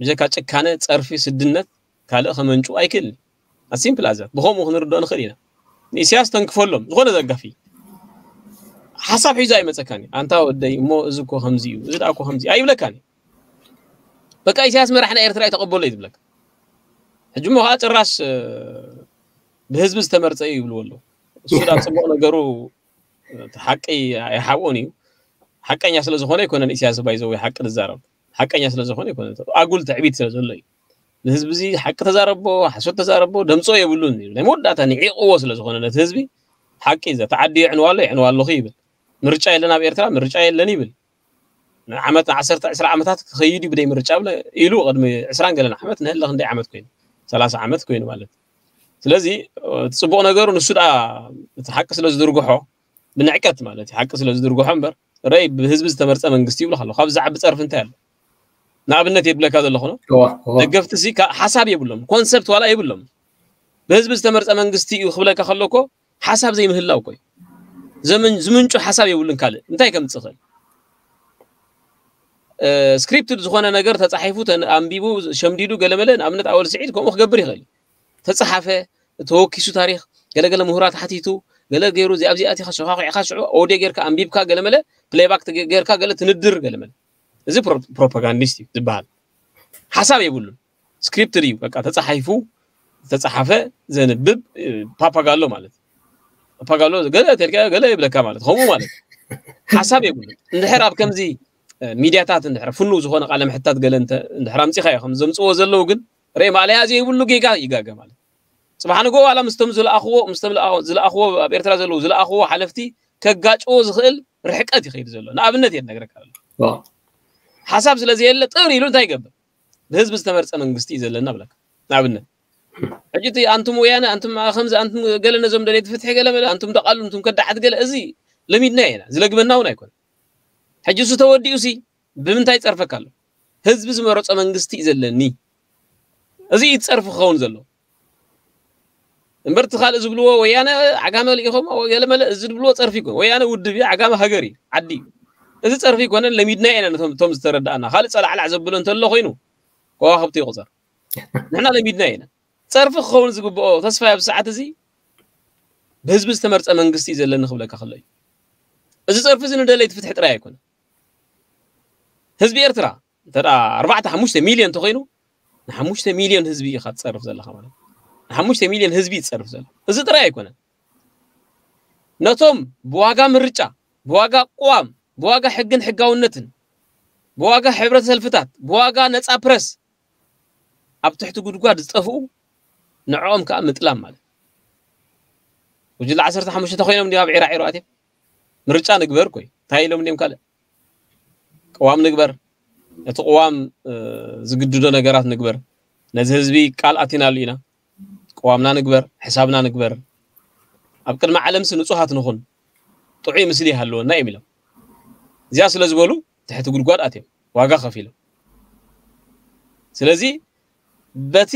ብጀካ ጭካነ፣ ፀርፊ፣ ስድነት ካልእ ከመንጩ ኣይክእልን። ኣሲምፕል ኣዛት ብኸምኡ ክንርድኦ ንኽእል ኢና። ንኢሳያስ ተንክፈሎም ዝኾነ ዘጋፊ ሓሳብ ሒዙ ኣይመፀካን እዩ። ኣንታ ወደይ እሞ እዚ እኮ ከምዚ እዩ፣ እዚ ደኣ እኮ ከምዚ ኣይብለካን እዩ። በቃ ኢሳያስ መራሕና ኤርትራ እዩ ተቐበሎ እዩ ዝብለካ። ሕጂ እሞ ከዓ ጭራሽ ብህዝቢ ዝተመርፀ እዩ ይብልዎ ኣለዉ። እሱ ዳ ፅቡቕ ነገሩ ሓቂ ኣይሓብኦን እዩ። ሓቀኛ ስለ ዝኾነ ኣይኮነን ኢሳያስ ባይዘው ሓቂ ዝዛረብ ሓቀኛ ስለ ዝኾነ ኣይኮነን። ኣጉል ትዕቢት ስለ ዘሎ እዩ። ንህዝቢ እዚ ሓቂ ተዛረቦ ሓሶት ተዛረቦ ደምፅኦ የብሉን እዩ። ናይ መወዳእታ ንዒቕዎ ስለ ዝኾነ ነቲ ህዝቢ ሓቂ ዘ ተዓዲ የዕንዋ ኣሎ የዕንዋ ኣለኹ ይብል። ምርጫ የለን ኣብ ኤርትራ ምርጫ የለን ይብል። ንዓመት ንዓሰርተ ዕስራ ዓመታት ክኸይድ እዩ ብደይ ምርጫ ብለ ኢሉ ቅድሚ ዕስራን ገለን ዓመት ንህለ ክንደይ ዓመት ኮይኑ ሰላሳ ዓመት ኮይኑ ማለት ስለዚ እቲ ፅቡቕ ነገሩ ንሱ ደኣ እቲ ሓቂ ስለ ዝድርግሖ ብንዕቀት ማለት እዩ ሓቂ ስለ ዝድርግሖ እምበር ረይ ብህዝቢ ዝተመርፀ መንግስቲ ይብሉ ከሎ ካብ ዝዓቢ ፀርፊ እንታይ ኣሎ ንኣብነት የብለካ ዘለኹ ደገፍቲ ሲ ሓሳብ የብሎም ኮንሰፕት ዋላ የብሎም ብህዝቢ ዝተመርፀ መንግስቲ እዩ ክብለካ ከሎ እኮ ሓሳብ ዘይምህላው እኮ እዩ ዝምንጩ ሓሳብ የብሉን ካልእ እንታይ ከምፅእ ክእል ስክሪፕትድ ዝኾነ ነገር ተፃሒፉ ኣንቢቡ ሸምዲዱ ገለመለ ንኣብነት ኣወል ስዒድ ከምኡ ክገብር ይኽእል ተፃሓፈ ተወኪሱ ታሪክ ገለገለ ምሁራት ሓቲቱ ገለ ገይሩ እዚኣ ኣብዚኣቲካ ሸኳኩዕካ ሽዑ ኦድዮ ጌርካ ኣንቢብካ ገለመለ ፕሌይባክ ጌርካ ገለ ትንድር ገለመለ እዚ ፕሮፓጋንዲስት እዩ ዝበሃል ሓሳብ የብሉን ስክሪፕትድ እዩ በቃ ተፃሒፉ ዝተፃሓፈ ዘንብብ ፓፓጋሎ ማለት ፓፓጋሎ ገለ ተልካ ገለ ይብለካ ማለት ከምኡ ማለት ሓሳብ የብሉ እንድሕር ኣብ ከምዚ ሚድያታት እንድሕር ፍኑ ዝኾነ ቃለ ምሕታት ገለ እንድሕር ኣምፂኻ እዮም ዘምፅዎ ዘለዉ ግን ርእ ማእለያ ዘይብሉ ጌጋ ይጋገ ማለት ፅባሕ ንጎ ዋላ ምስቶም ዝለኣኽዎ ምስቶም ዝለኣኽዎ ኣብ ኤርትራ ዘለዉ ዝለኣኽዎ ሓለፍቲ ከጋጭዎ ዝኽእል ርሕቀት ይኸይድ ዘሎ ንኣብነት እየ ነግረካ ዘሎ ሓሳብ ስለ ዘየለ ጥር ኢሉ እንታይ ይገብር ብህዝቢ ዝተመርፀ መንግስቲ እዩ ዘለና ብለካ ንኣብነት ሕጂ እቲ ኣንቱም ወያነ ኣንቱም ከምዚ ኣንቱም ገለ ነዞም ደሌቲ ፍትሒ ገለ መለ ኣንቱም ደቃሉ ኣንቱም ከዳዓት ገለ እዚ ለሚድና ኢና ዝለግበና እውን ኣይኮነ ሕጂ እሱ ተወዲኡ ሲ ብምንታይ ይፀርፈካ ኣሎ ህዝቢ ዝመረፆ መንግስቲ እዩ ዘለኒ እዚ እዩ ፀርፊ ክኸውን ዘሎ እምበር እቲ ካልእ ዝብልዎ ወያነ ዓጋመ ልኢኾም ገለመለ እዚ ዝብልዎ ፀርፊ ይኮን ወያነ ውድብ እዩ ዓጋመ ሃገር እዩ ዓዲ እዩ እዚ ፀርፊ ይኮነን ለሚድና ኢና ነቶም እቶም ዝተረዳእና ካልእ ፀላዕላዕ ዘብሎ እንተሎ ኮይኑ ከዋኽብቲ ይቁፀር ንሕና ለሚድና ኢና ፀርፊ ክኸውን ዝግብኦ ተስፋ ኣብ ሰዓት እዚ ብህዝቢ ዝተመርፀ መንግስቲ እዩ ዘለኒ ክብለካ ከሎ እዩ እዚ ፀርፊ እዚ ንደለይቲ ፍትሒ ጥራይ ኣይኮነ ህዝቢ ኤርትራ እንተ ኣርባዕተ ሓሙሽተ ሚልዮን እንተኮይኑ ንሓሙሽተ ሚልዮን ህዝቢ ኢኻ ትፀርፍ ዘለካ ማለት ንሓሙሽተ ሚልዮን ህዝቢ ይፀርፍ ዘሎ እዚ ጥራይ ኣይኮነን ነቶም ብዋጋ ምርጫ ብዋጋ ቅዋም ብዋጋ ሕግን ሕጋውነትን ብዋጋ ሕብረት ሰልፍታት ብዋጋ ነፃ ፕረስ ኣብ ትሕቲ ጉድጓድ ዝጠፍኡ ንዕኦም ከዓ ምጥላም ማለት። ጉጅለ ዓሰርተ ሓሙሽተ ኮይኖም እንዲም ኣብ ዒራ ዒሮ ኣትዮም ምርጫ ንግበር ኮይ እንታይ ኢሎም እንዲም ካልእ ቅዋም ንግበር፣ ነቲ ቅዋም ዝግድዶ ነገራት ንግበር፣ ነዚ ህዝቢ ቃል ኣቲናሉ ኢና፣ ቅዋምና ንግበር፣ ሕሳብና ንግበር፣ ኣብ ቅድሚ ዓለምሲ ንጹሃት ንኹን፣ ጥዑይ ምስሊ ይሃልወና እዮም ኢሎም። እዚኣ ስለ ዝበሉ ትሕቲ ጉድጓድ ኣትዮም ዋጋ ከፊሎም። ስለዚ በቲ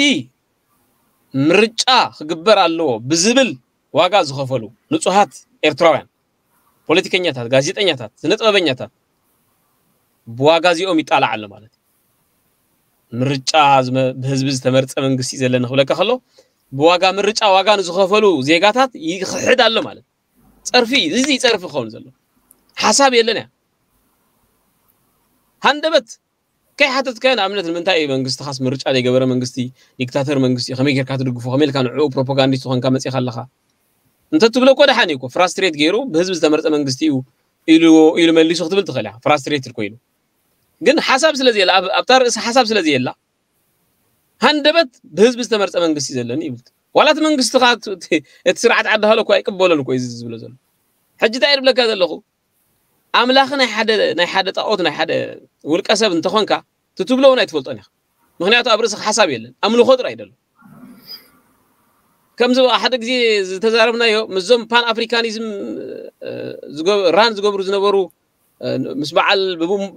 ምርጫ ክግበር ኣለዎ ብዝብል ዋጋ ዝኸፈሉ ንጹሃት ኤርትራውያን ፖለቲከኛታት፣ ጋዜጠኛታት፣ ስነጥበበኛታት ብዋጋ እዚኦም ይጣላዕ ኣሎ ማለት እዩ። ምርጫ ዝመ- ብህዝቢ ዝተመርጸ መንግስቲ እዩ ዘለና ክብለካ ከሎ ብዋጋ ምርጫ ዋጋ ንዝኸፈሉ ዜጋታት ይኽሕድ ኣሎ ማለት እዩ። ጸርፊ እዩ። እዚ ጸርፊ ክኸውን ዘሎ ሓሳብ የለን እያ። ሃንደበት ከይሓተትካዮ ንኣብነት ንምንታይ እዩ መንግስትኻስ ምርጫ ዘይገበረ መንግስቲ ዲክታተር መንግስቲ እዩ ከመይ ጌርካ ትድግፎ ከመይ ኢልካ ንዕኡ ፕሮፓጋንዲስት ዝኾንካ መፂኻ ኣለኻ እንተ ትብሎ እኮ ደሓን እዩ እኮ ፍራስትሬት ገይሩ ብህዝቢ ዝተመርፀ መንግስቲ እዩ ኢሉ ኢሉ መሊሱ ክትብል ትኽእል ኢኻ ፍራስትሬት ኮይኑ ግን ሓሳብ ስለ ዘየላ ኣብታ ርእሲ ሓሳብ ስለ ዘየላ ሃንደበት ብህዝቢ ዝተመርፀ መንግስቲ ዘለኒ ይብል ዋላ እቲ መንግስቲ እቲ ስርዓት ዓዲ ሃሎ እኮ ኣይቅበሎን እኮ እዩ ዝብሎ ዘሎ ሕጂ እንታይ ይብለካ ዘለኹ ኣምላኽ ናይ ሓደ ናይ ሓደ ጣኦት ናይ ሓደ ውልቀ ሰብ እንተኾንካ ትትብሎ እውን ኣይትፈልጦን ኢኻ ምክንያቱ ኣብ ርእስኻ ሓሳብ የለን ኣምልኾ ጥራይ ደሎ ከምዚ ሓደ ግዜ ዝተዛረብናዮ ምስዞም ፓን ኣፍሪካኒዝም ራን ዝገብሩ ዝነበሩ ምስ በዓል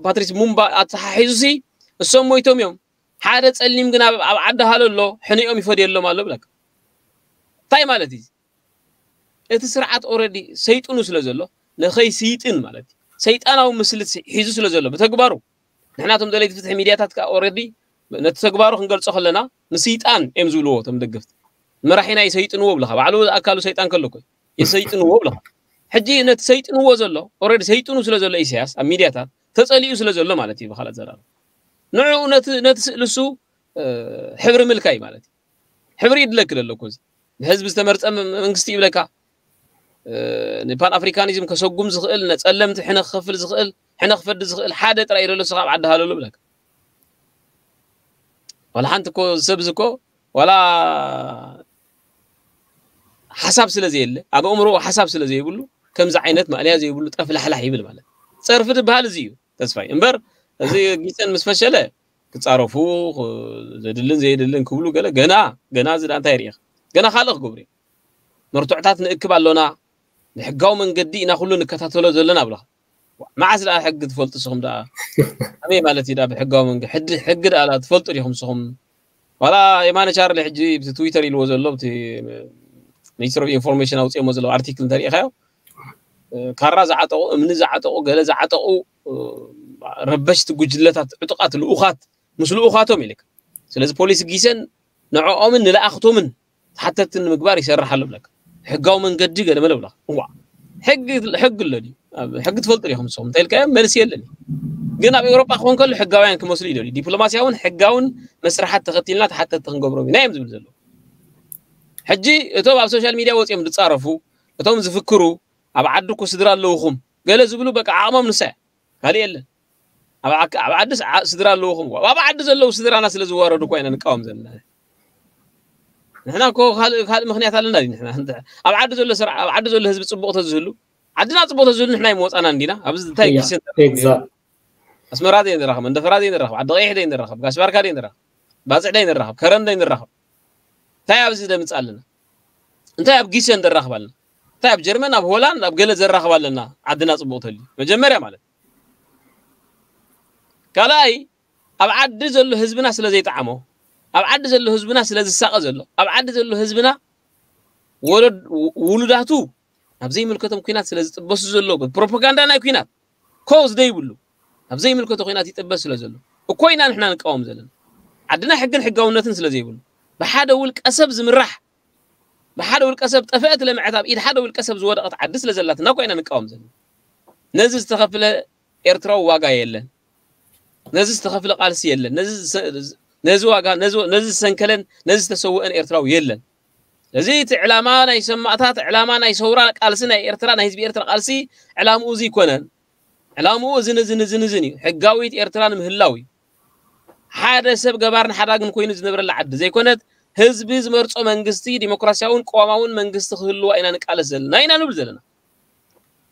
ፓትሪስ ሙምባ ኣተሓሒዙ ሲ እሶም ሞይቶም እዮም ሓደ ጸሊም ግን ኣብ ዓዲ ሃሎ ኣሎ ሕንኦም ይፈድየሎም ኣሎ ብለካ እንታይ ማለት እዩ እቲ ስርዓት ኦረዲ ሰይጥኑ ስለ ዘሎ ንኸይ ስይጥን ማለት እዩ ሰይጣናዊ ምስልት ሒዙ ስለ ዘሎ ብተግባሩ ንሕና ቶም ደለይቲ ፍትሒ ሚድያታት ከዓ ኦረዲ ነቲ ተግባሩ ክንገልጾ ከለና ንስይጣን እዮም ዝብልዎ ቶም ደገፍቲ መራሒና ይሰይጥንዎ ብለኻ ባዕሉ ኣካሉ ሰይጣን ከሎ ኮይ ይሰይጥንዎ ብለኻ ሕጂ ነቲ ሰይጥንዎ ዘሎ ኦረዲ ሰይጥኑ ስለ ዘሎ ኢሳያስ ኣብ ሚድያታት ተጸሊኡ ስለ ዘሎ ማለት እዩ ብኻልእ ዘራርብ ንዕኡ ነቲ ነቲ ስእሊ እሱ ሕብሪ ምልካይ ማለት እዩ ሕብሪ ይድለክ ደሎ እኮ እዚ ንህዝቢ ዝተመርፀ መንግስቲ ይብለካ ንፓን ኣፍሪካኒዝም ከሰጉም ዝኽእል ነፀለምቲ ሕነ ክኸፍል ዝኽእል ሕነ ክፈዲ ዝኽእል ሓደ ጥራይ ደሎ ስኻ ኣብ ዓዲ ሃለሉ ብለካ ዋላ ሓንቲ እኮ ሰብ እዚ እኮ ዋላ ሓሳብ ስለ ዘየለ ኣብ ኣእምሮ ሓሳብ ስለ ዘይብሉ ከምዚ ዓይነት ማእለያ ዘይብሉ ጠፍላሕላሕ ይብል ማለት ፀርፊ ትበሃል እዚ እዩ ተስፋይ እምበር እዚ ጊሰን ምስ ፈሸለ ክጻረፉ ዘድልን ዘየድልን ክብሉ ገለ ገና ገና እዚ እንታይ ርኢኻ ገና ካልእ ክገብሩ እዮም መርትዕታት ንእክብ ኣሎና ብሕጋዊ መንገዲ ኢና ኩሉ ንከታተሎ ዘለና ብለኻ መዓስ ደኣ ሕጊ ትፈልጡ ስኹም ደኣ ኣበይ ማለት እዩ ብሕጋዊ መንገዲ ሕጊ ደኣ ትፈልጡ ዲኹም ስኹም ዋላ የማነ ቻርሊ ሕጂ ብቲ ትዊተር ኢልዎ ዘሎ ብቲ ሚኒስትር ኦፍ ኢንፎርሜሽን ኣውፅኦሞ ዘለዉ ኣርቲክል እንተሪኢኻዮ ካራ ዝዓጠቑ እምኒ ዝዓጠቑ ገለ ዝዓጠቑ ረበሽቲ ጉጅለታት ዕጡቓት ልኡኻት ምስ ልኡኻቶም ኢልካ ስለዚ ፖሊስ ጊሰን ንዕኦምን ንለኣኽቶምን ተሓተትቲ ንምግባር ይሰርሕ ኣሎ ብለካ ሕጋዊ መንገዲ ገለ መለ ብለካ እዋ ሕጊ ሕጊ ኣሎ ድዩ ሕጊ ትፈልጡ ዲኹም ንስኹም እንታይ ኢልካዮ መልሲ የለን ግን ኣብ ኤውሮጳ ክኾን ከሎ ሕጋውያን ክመስሉ ይደልዩ ዲፕሎማስያውን ሕጋውን መስርሓት ተኸቲልና ተሓተትቲ ክንገብሮም ኢና እዮም ዝብል ዘለዉ ሕጂ እቶም ኣብ ሶሻል ሚድያ ወፂኦም ዝፃረፉ እቶም ዝፍክሩ ኣብ ዓዲ እኮ ስድራ ኣለውኹም ገለ ዝብሉ በቃ ዓቕሞም ንሳ ካልእ የለን ኣብ ዓዲ ስድራ ኣለውኹም ኣብ ዓዲ ዘለዉ ስድራና ስለ ዝዋረዱ እኳ ኢና ንቃወም ዘለና ንሕና እኮ ካልእ ምክንያት ኣለና ንሕና ኣብ ዓዲ ዘሎ ስርዓ ኣብ ዓዲ ዘሎ ህዝቢ ፅቡቕ ተዝህሉ ዓድና ፅቡቕ ተዝህሉ ንሕና ይመወፃና እንዲና ኣብዚ እንታይ ጊሰን ኣስመራ ዘይንራኸብ መንደፈራ ዘይንራኸብ ዓዲ ቀይሕ ዘይንራኸብ ጋሽ ባርካ ዘይንራኸብ ባፅዕ ዘይንራኸብ ከረን ዘይንራኸብ እንታይ ኣብዚ ደምፅ ኣለና እንታይ ኣብ ጊሰን ዘራኽብ ኣለና እንታይ ኣብ ጀርመን ኣብ ሆላንድ ኣብ ገለ ዘራኽብ ኣለና ዓድና ፅቡቕ ተልዩ መጀመርያ ማለት ካልኣይ ኣብ ዓዲ ዘሎ ህዝብና ስለ ዘይጠዓሞ ኣብ ዓዲ ዘሎ ህዝብና ስለ ዝሳቐ ዘሎ ኣብ ዓዲ ዘሎ ህዝብና ውሉዳቱ ኣብ ዘይምልከቶም ኩናት ስለ ዝጥበሱ ዘሎ ፕሮፓጋንዳ ናይ ኩናት ኮዝ ደይብሉ ኣብ ዘይምልከቶ ኩናት ይጥበስ ስለ ዘሎ እኮ ኢና ንሕና ንቃወም ዘለና ዓድና ሕግን ሕጋውነትን ስለ ዘይብሉ ብሓደ ውልቀ ሰብ ዝምራሕ ብሓደ ውልቀ ሰብ ጠፈአት ለምዐት ኣብ ኢድ ሓደ ውልቀ ሰብ ዝወደቐት ዓዲ ስለ ዘላትና እኮ ኢና ንቃወም ዘለና ነዚ ዝተኸፍለ ኤርትራዊ ዋጋ የለን ነዚ ዝተኸፍለ ቃልሲ የለን ነዚ ዋጋ ነዚ ዝሰንከለን ነዚ ዝተሰወአን ኤርትራዊ የለን እዚ እቲ ዕላማ ናይ ሰማእታት ዕላማ ናይ ሰውራ ቃልሲ ናይ ኤርትራ ናይ ህዝቢ ኤርትራ ቃልሲ ዕላምኡ እዚ ይኮነን ዕላምኡ እዝን እዝን እዝን እዝን እዩ ሕጋዊት ኤርትራ ንምህላው እዩ ሓደ ሰብ ገባርን ሓዳግን ኮይኑ ዝነብረላ ዓዲ ዘይኮነት፣ ህዝቢ ዝመርጾ መንግስቲ፣ ዲሞክራሲያውን ቅዋማውን መንግስቲ ክህልዋ ኢና ንቃለስ ዘለና ኢና ንብል ዘለና።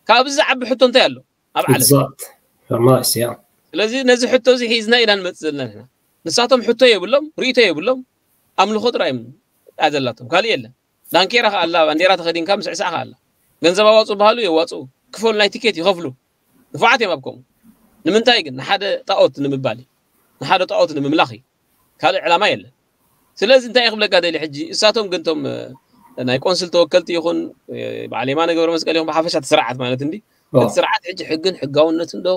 ካብዚ ዝዓቢ ሕቶ እንታይ ኣሎ ኣብ ዓለም? Exact. Nice, yeah. ስለዚ ነዚ ሕቶ እዚ ሒዝና ኢና ንመጽእ ዘለና ንሕና። ንሳቶም ሕቶ የብሎም፣ ርእይቶ የብሎም፣ ኣምልኾ ጥራይ እዮም ኣዘላቶም፣ ካልእ የለን። ዳንኬራ ከኣላ፣ ባንዴራ ተኸዲንካ ምስዕሳዕ ከኣላ፣ ገንዘብ ኣዋፁ በሃሉ የዋፁ፣ ክፈሉ ናይ ቲኬት ይኸፍሉ። ንፉዓት እዮም ኣብ ከምኡ። ንምንታይ ግን? ንሓደ ጣኦት ንምባል እዩ። ንሓደ ጣኦት ንምምላኽ እዩ። ካልእ ዕላማ የለን። ስለዚ እንታይ ክብለካ ደሊ ሕጂ፣ እሳቶም ግን ቶም ናይ ቆንስል ተወከልቲ ይኹን በዓል የማነ ገብረ መስቀል ይኹን ብሓፈሻ እቲ ስርዓት ማለት እንዲ እቲ ስርዓት ሕጂ ሕግን ሕጋውነትን ዶ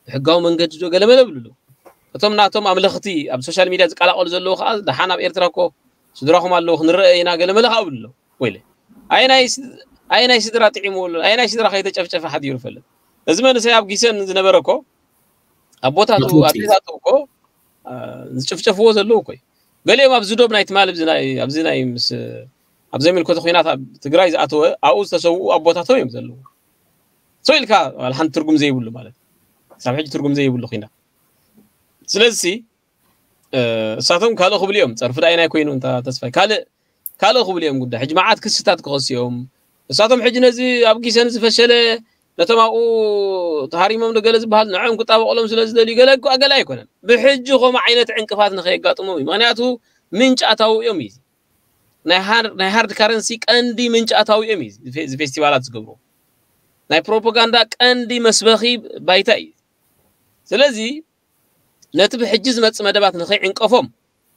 ብሕጋዊ መንገዲ ዶ ገለመለ ብሉ ኣለዉ። እቶም ናቶም ኣምለኽቲ ኣብ ሶሻል ሚድያ ዝቀላቀሉ ዘለዉ ከዓ ደሓን ኣብ ኤርትራ እኮ ስድራኹም ኣለዉ ክንረአ ኢና ገለመለ ከዓ ብሉ ኣለዉ። ወይለ ኣየናይ ስድራ ጥዒሙ ኣሎ? ኣየናይ ስድራ ከይተጨፍጨፈ ሓዲሩ ይፈልጥ? እዚ መንእሰይ ኣብ ጊሰን ዝነበረ እኮ ኣቦታቱ ኣዴታቱ እኮ ዝጭፍጨፍዎ ዘለዉ እኮ እዩ። ገሊኦም ኣብዚ ዶብ ናይ ትማል ኣብዚ ናይ ምስ ኣብ ዘይምልከቶ ኩናት ኣብ ትግራይ ዝኣተወ ኣብኡ ዝተሰውኡ ኣቦታቶም እዮም ዘለዉ። ሰው ኢልካ ሓንቲ ትርጉም ዘይብሉ ማለት ሳብ ሕጂ ትርጉም ዘይብሉ ኩናት። ስለዚ እሳቶም ካልእ ክብሉ እዮም። ፀርፊ ዳይ ናይ ኮይኑ እንታ ተስፋይ ካልእ ካልእ ክብሉ እዮም ጉዳይ ሕጂ መዓት ክስታት ክኸሱ እዮም። እሳቶም ሕጂ ነዚ ኣብ ጊሰን ዝፈሸለ ነቶም ኣብኡ ተሃሪሞም ዶ ገለ ዝበሃል ንዕኦም ክጣበቕሎም ስለ ዝደልዩ ገለ እኮ ገለ ኣይኮነን። ብሕጂ ከምኡ ዓይነት ዕንቅፋት ንኸየጋጥሞም እዩ። ምክንያቱ ምንጫታዊ እዮም እዩ። ናይ ሃርድ ካረንሲ ቀንዲ ምንጫታዊ እዮም እዩ። እዚ ፌስቲቫላት ዝገብሩ ናይ ፕሮፓጋንዳ ቀንዲ መስበኺ ባይታ እዩ። ስለዚ ነቲ ብሕጂ ዝመጽእ መደባት ንኸይዕንቀፎም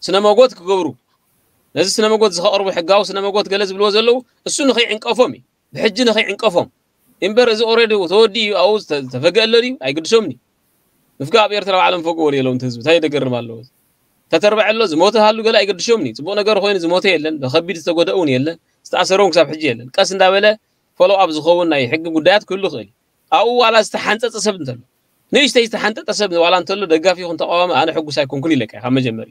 ስነ መጎት ክገብሩ ነዚ ስነ መጎት ዝኸቕርቡ ሕጋዊ ስነ መጎት ገለ ዝብልዎ ዘለዉ እሱ ንኸይዕንቀፎም እዩ። ብሕጂ ንኸይዕንቀፎም እምበር እዚ ኦረዲ ተወዲ እዩ ኣብኡ ዝተፈገአለ ድዩ ኣይግድሶምን እዩ። ምፍጋ ኣብ ኤርትራ ባዕሎም ፈግዎ የለውን ህዝቢ እንታይ ደገርም ኣለዎ። ተተርበዐ ኣሎ ዝሞተ ሃሉ ገለ ኣይገድሾምን እዩ። ፅቡቅ ነገር ኮይኑ ዝሞተ የለን፣ ብከቢድ ዝተጎደእ እውን የለን፣ ዝተኣሰረ እውን ክሳብ ሕጂ የለን። ቀስ እንዳበለ ፎሎ ኣብ ዝኸውን ናይ ሕጊ ጉዳያት ክህሉ ይኽእል እዩ። ኣብኡ ዋላ ዝተሓንፀፀ ሰብ እንተሎ ንእሽተይ ዝተሓንጠጠ ሰብ ዋላ እንተሎ ደጋፊ ይኹን ተቃዋሚ ኣነ ሕጉስ ኣይኮንኩን ኢለካ ካብ መጀመሪ።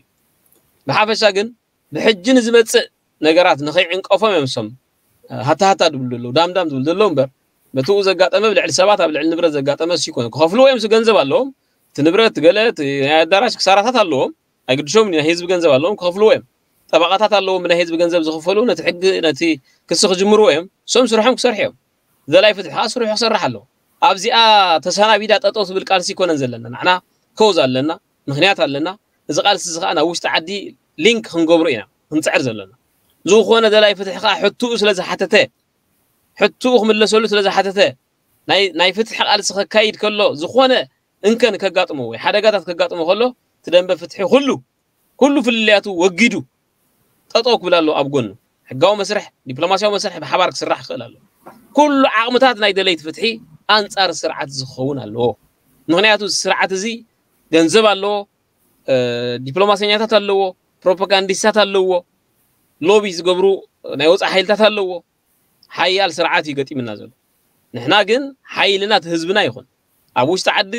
ብሓፈሻ ግን ብሕጂ ንዝመፅእ ነገራት ንኸይዕንቀፎም እዮም ሶም ሃታ ሃታ ድብሉ ዘለዉ ዳምዳም ዝብሉ ዘለዉ እምበር በትኡ ዘጋጠመ ብልዕሊ ሰባት ኣብ ልዕሊ ንብረት ዘጋጠመ ሲኮነ ክኸፍልዎ እዮም ገንዘብ ኣለዎም። እቲ ንብረት ገለ ናይ ኣዳራሽ ክሳራታት ኣለዎም። ኣይግድሾም ናይ ህዝቢ ገንዘብ ኣለዎም ክኸፍልዎ እዮም። ጠበቃታት ኣለዎም ብናይ ህዝቢ ገንዘብ ዝኽፈሉ ነቲ ሕጊ ነቲ ክሲ ክጅምርዎ እዮም። ሶም ስርሖም ክሰርሑ እዮም። ዘላይ ፍትሒ ከዓ ስርሑ ክሰርሕ ኣለዎ። ኣብዚኣ ተሰናቢዳ ጠጠው ትብል ቃልሲ ይኮነን ዘለና ንዓና ከውዝ ኣለና ምክንያት ኣለና። እዚ ቃልሲ እዚ ከዓ ናብ ውሽጢ ዓዲ ሊንክ ክንገብሮ ኢና ክንፅዕር ዘለና። ዝኾነ ደላይ ፍትሒ ከዓ ሕትኡ ስለ ዝሓተተ ሕትኡ ክምለሰሉ ስለ ዝሓተተ ናይ ፍትሒ ቃልሲ ከካይድ ከሎ ዝኾነ እንከን ከጋጥሞ ወይ ሓደጋታት ከጋጥሞ ከሎ እቲ ደንበ ፍትሒ ኩሉ ኩሉ ፍልልያቱ ወጊዱ ጠጠው ክብል ኣሎ ኣብ ጎኑ ሕጋዊ መስርሕ ዲፕሎማሲያዊ መስርሕ ብሓባር ክስራሕ ክኽእል ኣሎ። ኩሉ ዓቕምታት ናይ ደለይቲ ፍትሒ ኣንፃር ስርዓት ዝኸውን ኣለዎ። ምክንያቱ ስርዓት እዚ ገንዘብ ኣለዎ፣ ዲፕሎማሰኛታት ኣለዎ፣ ፕሮፓጋንዲስታት ኣለዎ፣ ሎቢ ዝገብሩ ናይ ወፃእ ሓይልታት ኣለዎ። ሓያል ስርዓት እዩ ገጢምና ዘሎ። ንሕና ግን ሓይልና እቲ ህዝብና ይኹን ኣብ ውሽጢ ዓዲ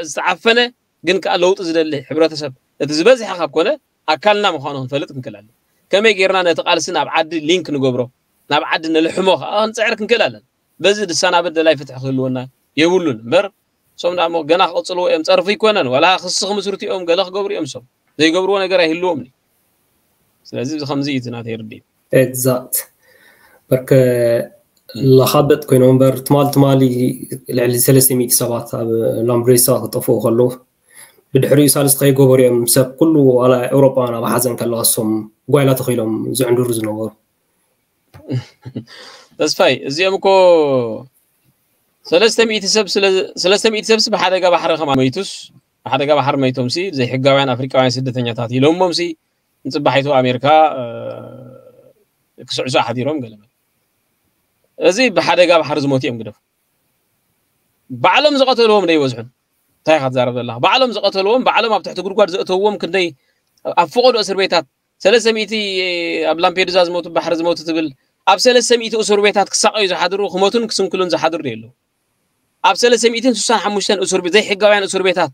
ዝተዓፈነ ግን ከዓ ለውጢ ዝደሊ ሕብረተሰብ እቲ ዝበዝሐ ካብ ኮነ ኣካልና ምዃኑ ክንፈልጥ ክንክእል ኣለና። ከመይ ጌርና ነቲ ቃልሲ ናብ ዓዲ ሊንክ ንገብሮ ናብ ዓዲ ንልሕሞ ከዓ ክንፅዕር ክንክእል ኣለና። በዚ ዝሰናበድ ደላይ ፍትሒ ክህልወና የብሉን እምበር እሶም ዳሞ ገና ክቕፅልዎ እዮም። ፀርፊ ይኮነን ዋላ ክሲ ክምስርቱ እዮም ገለ ክገብሩ እዮም። እሶም ዘይገብርዎ ነገር ኣይህልዎም። ስለዚ ከምዚ እዩ ናተይ ርድኢት። ኤግዛክት በርከ ላኻበጥ ኮይኖም እምበር ትማል ትማሊ ልዕሊ ሰለስተ ሚእቲ ሰባት ኣብ ላምብሬሳ ክጠፍኡ ከለዉ ብድሕሪኡ ሳልስቲ ከይገበሩ እዮም ሰብ ኩሉ ዋላ ኤውሮጳውያን ኣብ ሓዘን ከለዋ እሶም ጓይላ ተኺሎም ዝዕንድሩ ዝነበሩ። ተስፋይ እዚኦም እኮ ሰለስተ ሚእቲ ሰብ ሰለስተ ሚእቲ ሰብስ ብሓደጋ ባሕሪ ከማ መይቱስ ብሓደጋ ባሕሪ መይቶም ሲ ዘይሕጋውያን ኣፍሪቃውያን ስደተኛታት ኢሎሞም ሲ ንፅባሒቱ ኣሜሪካ ክስዕሱ ሓዲሮም ገለመ እዚ ብሓደጋ ባሕሪ ዝሞት እዮም ግደፉ። ባዕሎም ዝቐተልዎም ዶ ይበዝሑን እንታይ ኢኻ ትዛረብ ዘለኻ? ባዕሎም ዝቐተልዎም ባዕሎም ኣብ ትሕቲ ጉድጓድ ዘእተውዎም ክንደይ ኣብ ፈቐዶ እስር ቤታት ሰለስተ ሚእቲ ኣብ ላምፔዱዛ ዝሞቱ ባሕሪ ዝሞቱ ትብል ኣብ ሰለስተ ሚእቲ እስር ቤታት ክሳቐዩ ዝሓድሩ ክሞቱን ክስንክሉን ዝሓድሩ ዶ የለው? ኣብ ሰለስተ ሚእትን ስሳን ሓሙሽተን እስር ቤት ዘይሕጋውያን እስር ቤታት